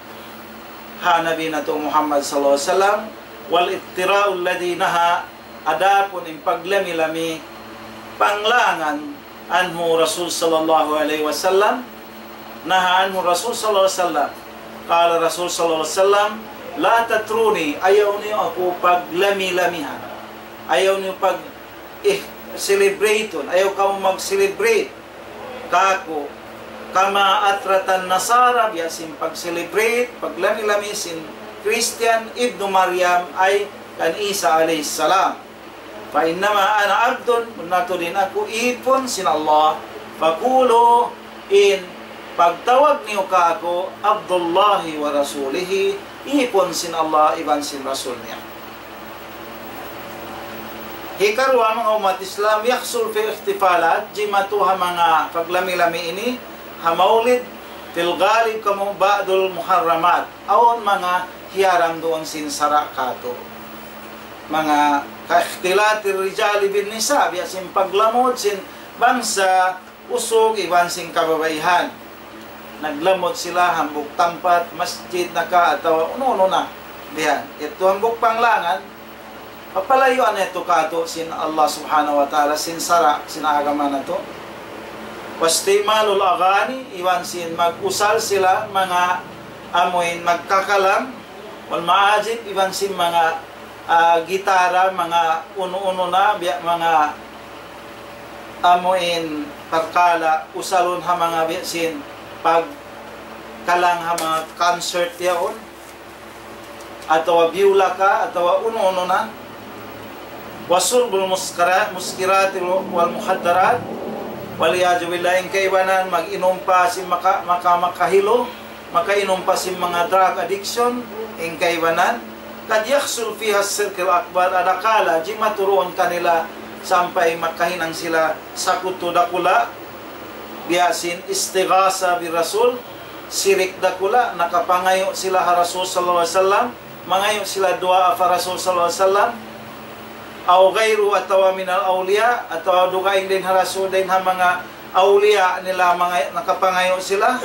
ha Nabi natu' Muhammad sallallahu alayhi wasallam, والافتراء الذي نهى, adapun in paglami-lami, panglangan anhu Rasul sallallahu alayhi wasallam, naha anhu Rasul sallallahu alayhi wasallam. Qala Rasul sallallahu alayhi wasallam, "La tatruni, ayaw niyu aku paglami-lamihan. Ayaw niyu pag-, eh, celebrate-un, ayaw kamu mag-celebrate kaku'. Kama atratan nasara, biya' sin pag-celebrate, paglami-lami sin Christian, ibnu Maryam, ay kan Isa alayhi salam. Fa innama ana abdun, bunnal tuud in aku īpun sin Allah. Fakulu, in pagtawag niyu kaku', Abdullahi wa Rasulihi, īpun sin Allah iban sin Rasul niya." Hikaruwa, manga ummat Islam, yahsul fi ihtifalat, jimatu ha manga paglami-lami ini, ha maulid, fil ghalib kamu ba'dul muharramat, awn manga hiyaram duun sin sara' katu'. Manga ka ikhtilatir rijali bin nisa, biya' sin paglamud sin bangsa usug iban sin kababaihan. Naglamud sila hambuuk tampat, masjid na ka atawa unu-unu na. Biya' yadtu hambuuk panglangan, papalayuan yadtu katu' sin Allah Subhanahu wa Ta'ala, sin sara', sin agama natu'. Wastimalul aghani, iban sin mag-usal sila manga amuin magkakalang, wal ma'azif, iban sin manga, ah, gitara, manga unu-unu na, biya' manga amuin parkala' usalun ha manga biya' sin pagkalang ha manga concert yaun, atawa biyula ka, atawa unu-unu na. Wasurbul muskara-, muskirati wal muhaddarat, wal iyadhu billah, in kaibanan mag-inum pa sin maka-, maka-, makahilu, makainum pa sin manga drug addiction, in kaibanan. Qad yahsul fiha shirkul akbar, adakala jimatu duun kanila sampay makahinang sila sakutu dakula', biya' sin istighasa bi Rasul, sirik dakula', nakapangayu' sila ha Rasul sallallahu alayhi wasallam, mangayu' sila duwaa pa Rasul sallallahu alayhi wasallam, aw ghayru, atawa minal awliya, atawa dugaing dayn ha Rasul, dayn ha manga awliya nila, manga nakapangayu' sila,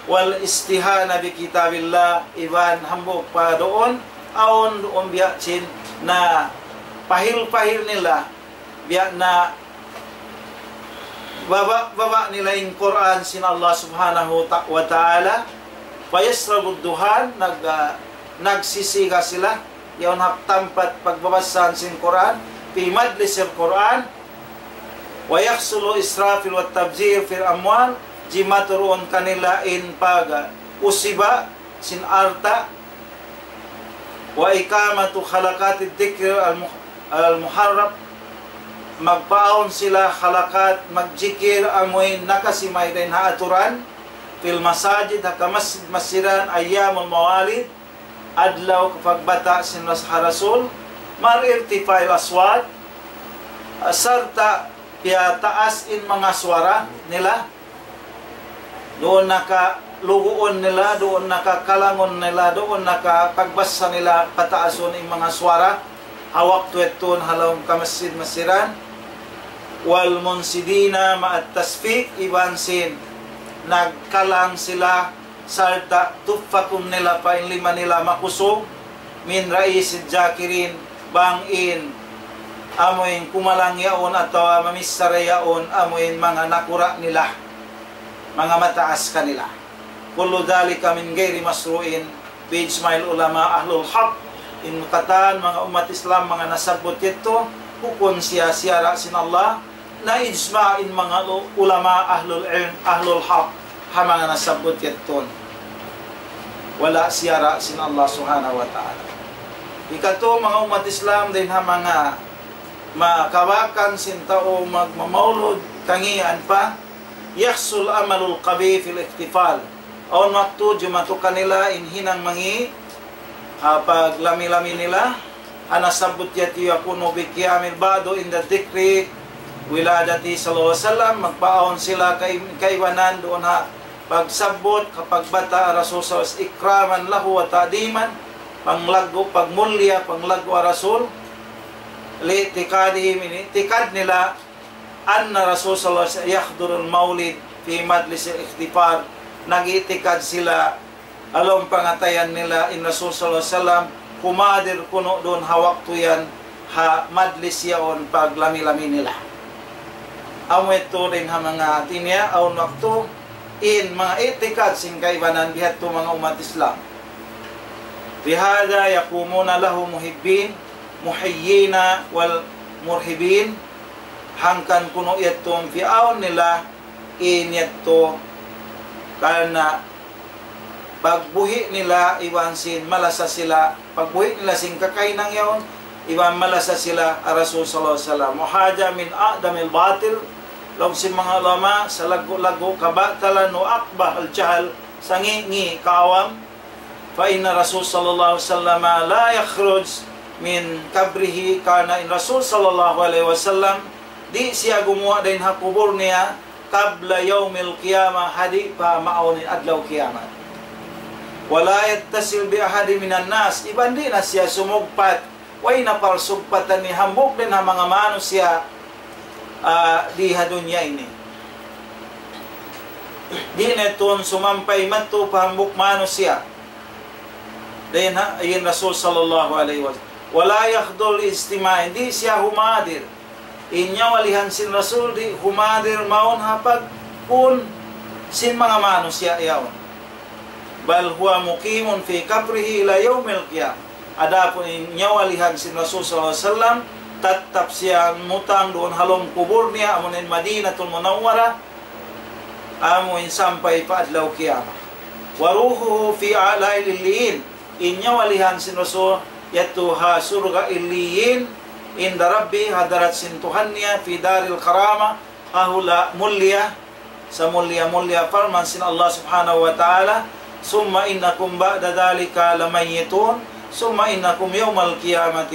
wal istihana bi kitabillah, iban hambuuk pa duun, awn duun biya' sin na pahil-pahil nila, biya' na baba'-baba' nila in Qur'an sin Allah Subhanahu ta-, wa Ta'ala, wa yashrabud duhan, nag-, ah, nagsisiga sila, yaun ha tampat pagbabasahan sin Qur'an, fi majlisil Qur'an, wa yahsulu israfil wa tabzir fil amwal, jimatu duun kanila in pag-usiba sin alta', wa iqamatu halaqatid dhikr al-mu-, al-muharram, magpaawn sila halaqat, magjikil amuin nakasimay dayn ha aturan, fil masajid, ha kamasjid-masjidan, ayyamul mawalid, adlaw kapagbata' sin ras-, ha Rasul, ma'al irtifa'il aswat, sarta' piyataas in manga suwara nila, duun na kaluguun nila, duun na kakalangun nila, duun na kapagbasa nila, pataasun in manga suwara, ha waktu yadtu ha lawm kamasjid-masjidan, wal munshidina ma'at tasfiq, iban sin nagkalang sila, sarta' tupakun nila pa in lima nila makusug, min ra'isid dhakirin, bang in amuin kumalang yaun atawa mamichara yaun amuin manga nakura' nila, manga mataas kanila. Kullu dhalika min ghayri mashru'in bi ijma'il ulama ahlul haq. In katan manga ummat Islam, manga nasabbut yadtu, bukun siya siyara' sin Allah, na ijma' in manga lu-, ulama ahlul ilm, ahlul haq, ha manga nasabbut yadtu. Wala' siyara' sin Allah Subhanahu wa Ta'ala. Hikatu, manga ummat Islam, dayn ha manga makabakan sin tau magmamaulud, kangian pa, yahsul amalul qabih fil ihtifal. Awn waktu jimatu kanila in hinang mangi', ah, paglami-lami nila, ha nasabbut yadtu, yakunu bi qiyamil ba'du inda dhikri wiladati sallallahu alayhi wasallam, magpaawn sila kai-, kaibanan duun ha pagsabbut, kapagbata' Rasul sallallahu alayhi wasallam, ikraman lahu wa ta'diman, panglaggu', pagmulliya, panglaggu' ha Rasul, li'tiqadihim, in i'tiqad nila, anna Rasul sallallahu alayhi wasallam yahdurul maulid fi majlisil ihtifal, nag-i'tiqad sila, ha lawm pangatayan nila in Rasul sallallahu alayhi wasallam, kumadir kunu' duun ha waktu yan, ha majlis yaun paglami-lami nila. Amu yadtu dayn ha manga hati niya, awn waktu in manga i'tikad sin kaibanan biya' hadtu manga ummat Islam. بهذا يقومون له محبين محيين والمرهبين. Hangkan kunu' yadtu piyawn nila in yadtu karna' pagbuhi' nila iban sin malasa sila, pagbuhi' nila sin kakahinang yaun, iban malasa sila ha Rasul sallallahu alayhi wasallam. وهذا من أعظم الباطل, laung sin manga ulama, salaggu'-laggu' kabatalan, وأقبح الجهل, sangi'-ngi' kaawam. فإن الرسول صلى الله عليه وسلم لا يخرج من قبره, karna' in Rasul sallallahu alayhi wasallam di' siya gumuwa' dayn ha kubul niya قبل يوم القيامة, ha di' pa maawn in adlaw kiyamat. ولا يتصل بأحد من الناس, iban di' na siya sumugpat, way na parsugpatan niya hambuuk dayn ha manga manusiya', ah, di ha dunya ini. Di' na tuud sumampay madtu pa hambuuk manusiya'. Dayn ha, in Rasul sallallahu alayhi wasallam. ولا يحضر الاجتماع, di' siya humadir. In nyawalihan sin Rasul di' humadir mawn ha pagpun sin manga manusiya' yaun. بل هو مقيم في قبره إلى يوم القيامة. Adapun in nyawalihan sin Rasul sallallahu alayhi wasallam, tattap siya mutang duun ha lawm kubul niya, amu in Madinatul Munawwarah, amu in sampay pa adlaw kiyamat. وروحه في أعلى عليين. In nyawalihan sin Rasul yadtu ha surga' Illiyin, عند ربه, ha hadarat sin Tuhan niya, في دار الكرامة, ha hula' mulliya, samulliya-mulliya. Parman sin Allah subhanahu wa ta'ala, ثم إنكم بعد ذلك لميتون ثم إنكم يوم القيامة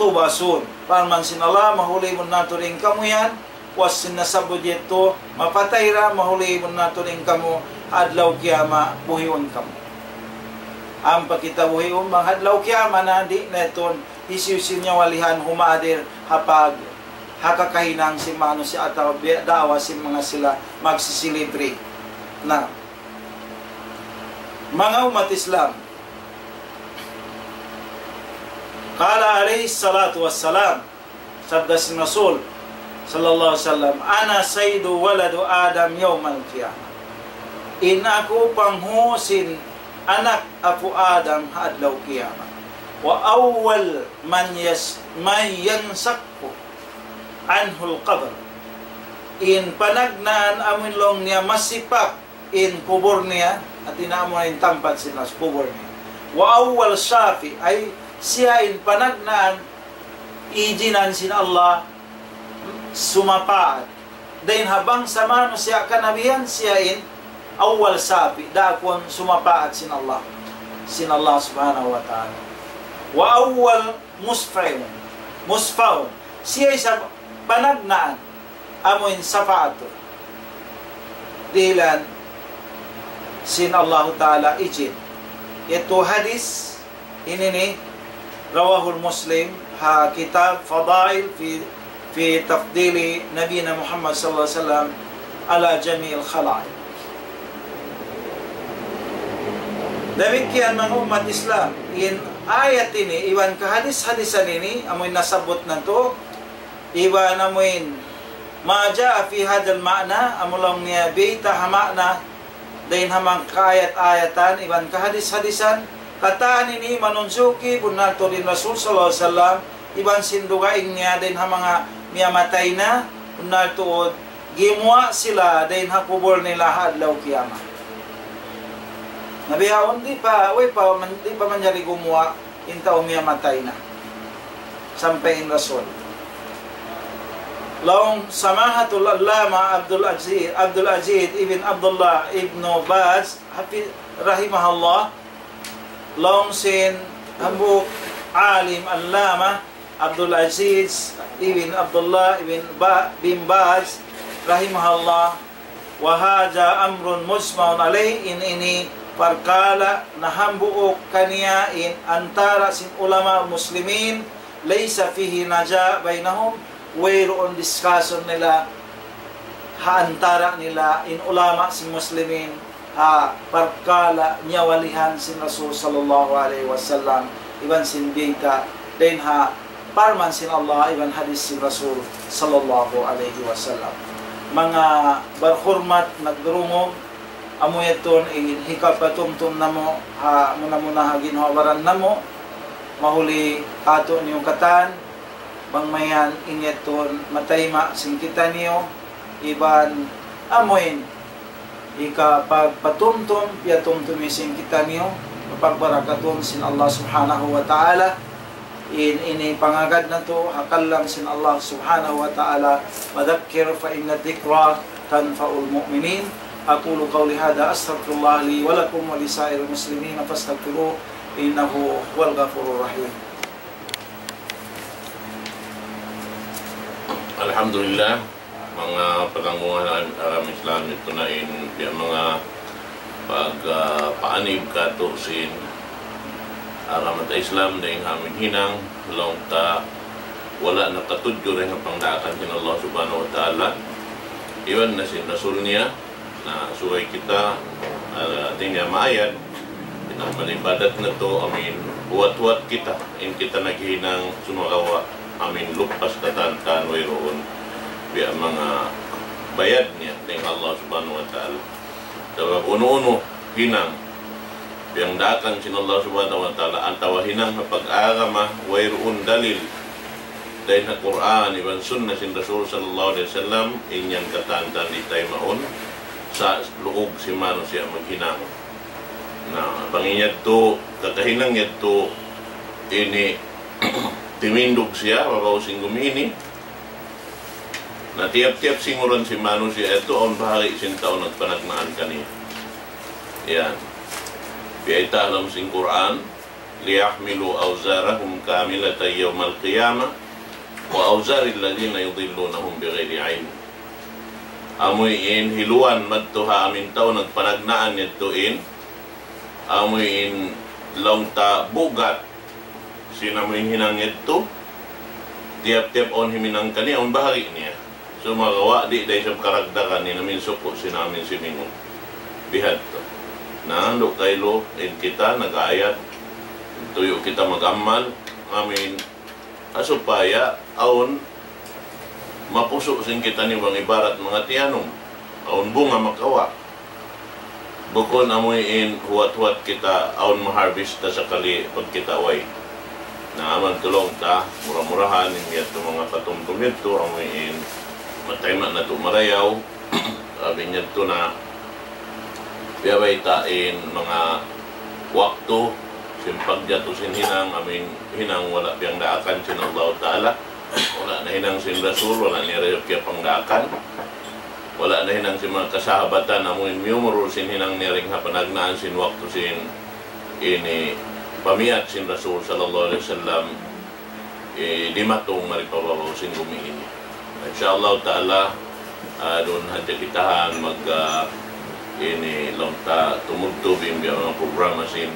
تبعثون. Parman sin Allah, mahuli bunnal tuud in kamu yan, puas sin nasabbut yadtu, mapatay da, mahuli bunnal tuud in kamu, adlaw kiyamat buhiun kamu. Ampa kita buhiun bang adlaw kiyamat na, di' na tuud hisiyu-siyu nyawalihan humadir ha pag-, ha kakahinang sin manusiya' atawa bi-, daawa sin manga sila magsisilibre. Na, manga ummat Islam, قال عليه الصلاة والسلام, sabda sin Rasul sallallahu alayhi wasallam, أنا سيد ولد آدم يوم القيامة. In aku panghu' sin anak apu' Adam ha adlaw kiyamat. وأول من يس-، من ينشق عنه القبر. In panagnaan amu in laung niya masipak in kubul niya, hati niya amu in tampat sin nas kubul niya. وأول شافع, ay siya in panagnaan ijinan sin Allah sumapaat. Dayn ha bangsa manusiya' kanabihan siya in أول شافع, daakun sumapaat sin Allah, sin Allah subhanahu wa ta'ala. وأول مشفع, مشفع, siya isab panagnaan amu in sapaat dihilan sin Allahu Ta'ala ijin. Yadtu hadis ini ini, رواه مسلم, ha kitab Fadail fi, fi tafdili Nabina Muhammad sallallahu alayhi wasallam ala jami'il khalaiq. Damikkiyan manga ummat Islam, in ayat ini, iban kahadis-hadisan ini, amu in nasabbut natu', iban amu in ما جاء في هذا المعنى, amu laung niya biyayta' ha ma'na, dayn ha manga kaayat-ayatan, iban kahadis-hadisan, katan ini manunjuki bunnal tuud in Rasul sallallahu alayhi wasallam, iban sin dugaing niya dayn ha manga miyamatay na, bunnal tuud gimuwa' sila dayn ha kubul nila ha adlaw kiyamat. Na bihaun di' pa, way pa, man-, di' pa manjari gumuwa' in tau miyamatay na. Sampay in Rasul. Laung Samahatul Allama Abdul Aziz, Abdul Aziz ibn Abdullah ibn Baz, hafi-, rahimahullah, laung sin hambuuk alim Allama Abdul Aziz ibn Abdullah ibn Ba-, bin Baz, rahimahullah, وهذا أمر مجمع عليه, in ini parkala' nahambuuk kaniya in antara' sin ulama muslimin, ليس فيه نزاع بينهم, wayruun discussion nila ha antara' nila in ulama sin muslimin ha parkala' nyawalihan sin Rasul sallallahu alayhi wasallam, iban sin biyayta' dayn ha parman sin Allah iban hadith sin Rasul sallallahu alayhi wasallam. Manga barhurmat, nagdurungug, amu yadtu in hikapatumtum namu', ha muna-muna ha ginhawa-baran namu', mahuli katu' niyu katan, bang mayan in yadtu matayma' sin kitaniyu, iban amuin hikapagpatumtum, piyatumtum sin kitaniyu, pagbarakatun sin Allah Subhanahu wa Ta'ala. In ini pangagad natu', ha kalam sin Allah Subhanahu wa Ta'ala, وذكر فإن الذكرى تنفع المؤمنين. أقول قولي هذا أستغفر الله لي ولكم ولسائر المسلمين فاستغفروه إنه هو الغفور الرحيم. Alhamdulillah, manga pagtanggungan agama Islam, yadtu na in biya' manga pag, ah, paanib katu' sin agama ta Islam dayn ha amin hinang, laung ta wala' nakatudju dayn ha pangdaakan sin Allah Subhanahu wa Ta'ala iban na sin Rasul niya. Na subay kita, ah, di' niya maayad, in amal ibadat natu', amin, huwat-huwat kita, in kita naghinang sumagawa', amin, lupas katantan wayruun biya' manga bayad niya dayn ha Allah Subhanahu wa Ta'ala. Sabab unu-unu hinang piyangdaakan sin Allah Subhanahu wa Ta'ala, atawa hinang ha pag-agama, wayruun dalil dayn ha Qur'an iban sunnah sin Rasul sallallahu alayhi wasallam, in yan katantan di' taymaun sa' luug sin manusiya' maghinang. Na, bang in yadtu, kakahinang yadtu, ini timindug siya, babaw sin gumi ini. Na tiyap-tiyap singuran sin manusiya' yadtu, awn bahari' sin tau nagpanagnaan kaniya. Yan. Biyayta' ha lawm sin Qur'an, ليحملوا أوزارهم كاملة يوم القيامة وأوزار الذين يضلونهم بغير علم. Amu in hiluan madtu ha amin tau nagpanagnaan yadtu in, amu in laung ta bugat sin amu in hinang yadtu, tiyap-tiyap awn himinang kaniya, awn bahari' niya. Sumagawa' di' da isab karagdagan in amin suku' sin amin simingun. Bihadtu. Na, andu' kailu in kita nag-ayad, tuyu' kita mag-amal, amin, ha supaya awn mapusu' sin kitaniyu bang ibarat manga tiyanum, awn bunga makawa'. Bukun amu in huwat-huwat kita awn ma-harvest ta sakali pagkita' way. Na amu in laung ta, mura-murahan in yadtu manga patumtum yadtu, amu in matayma' natu' marayaw, labi yadtu na biya' bayta' in manga waktu sin pagjatu sin hinang, amu in hinang wala' piyangdaakan sin Allah Ta'ala, wala' nahinang sin Rasul, wala' niya da isab kiyapangdaakan. Wala' nahinang sin manga kasahabatan, amu in miyumurul sin hinang niya dayn ha panagnaan sin waktu sin ini pamiyat sin Rasul sallallahu alayhi wasallam, eh, dimatung mari pa babaw sin gumi ini. Insya Allah Ta'ala, ah, duun hadja kitahan mag, ah, ini laung ta tumudtub in biya' manga programa sin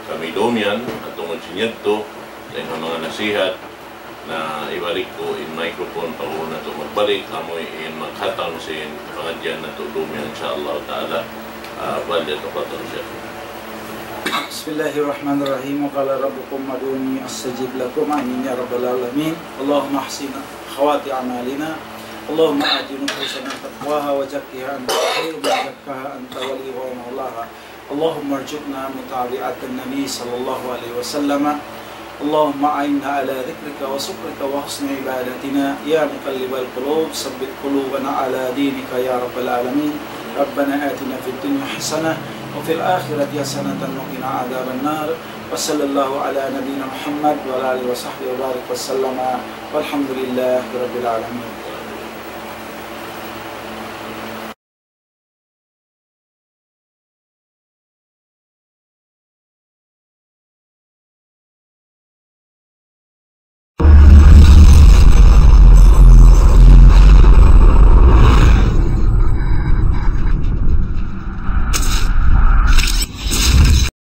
kami dumiyan, at tungud sin yadtu, dayn ha manga nasihat, na ibalik ku in microphone pa unu natu' magbalik, amu in maghatang sin pangadjian natu' dumiyan, insya Allah Ta'ala. Ah, فليتفضل شيخنا. بسم الله الرحمن الرحيم. وقال ربكم ادعوني أستجب لكم. آمين يا رب العالمين. اللهم أحسن خواتم أعمالنا. اللهم آت نفوسنا تقواها وزكها أنت خير من زكاها أنت وليها ومولاها. اللهم ارزقنا متابعة النبي صلى الله عليه وسلم. اللهم أعنا على ذكرك وشكرك وحسن عبادتنا. يا مقلب القلوب ثبت قلوبنا على دينك يا رب العالمين. ربنا آتنا في الدنيا حسنة وفي الآخرة حسنة وقنا عذاب النار. وصلى الله على نبينا محمد وعلى آله وصحبه وبارك وسلم. والحمد لله رب العالمين.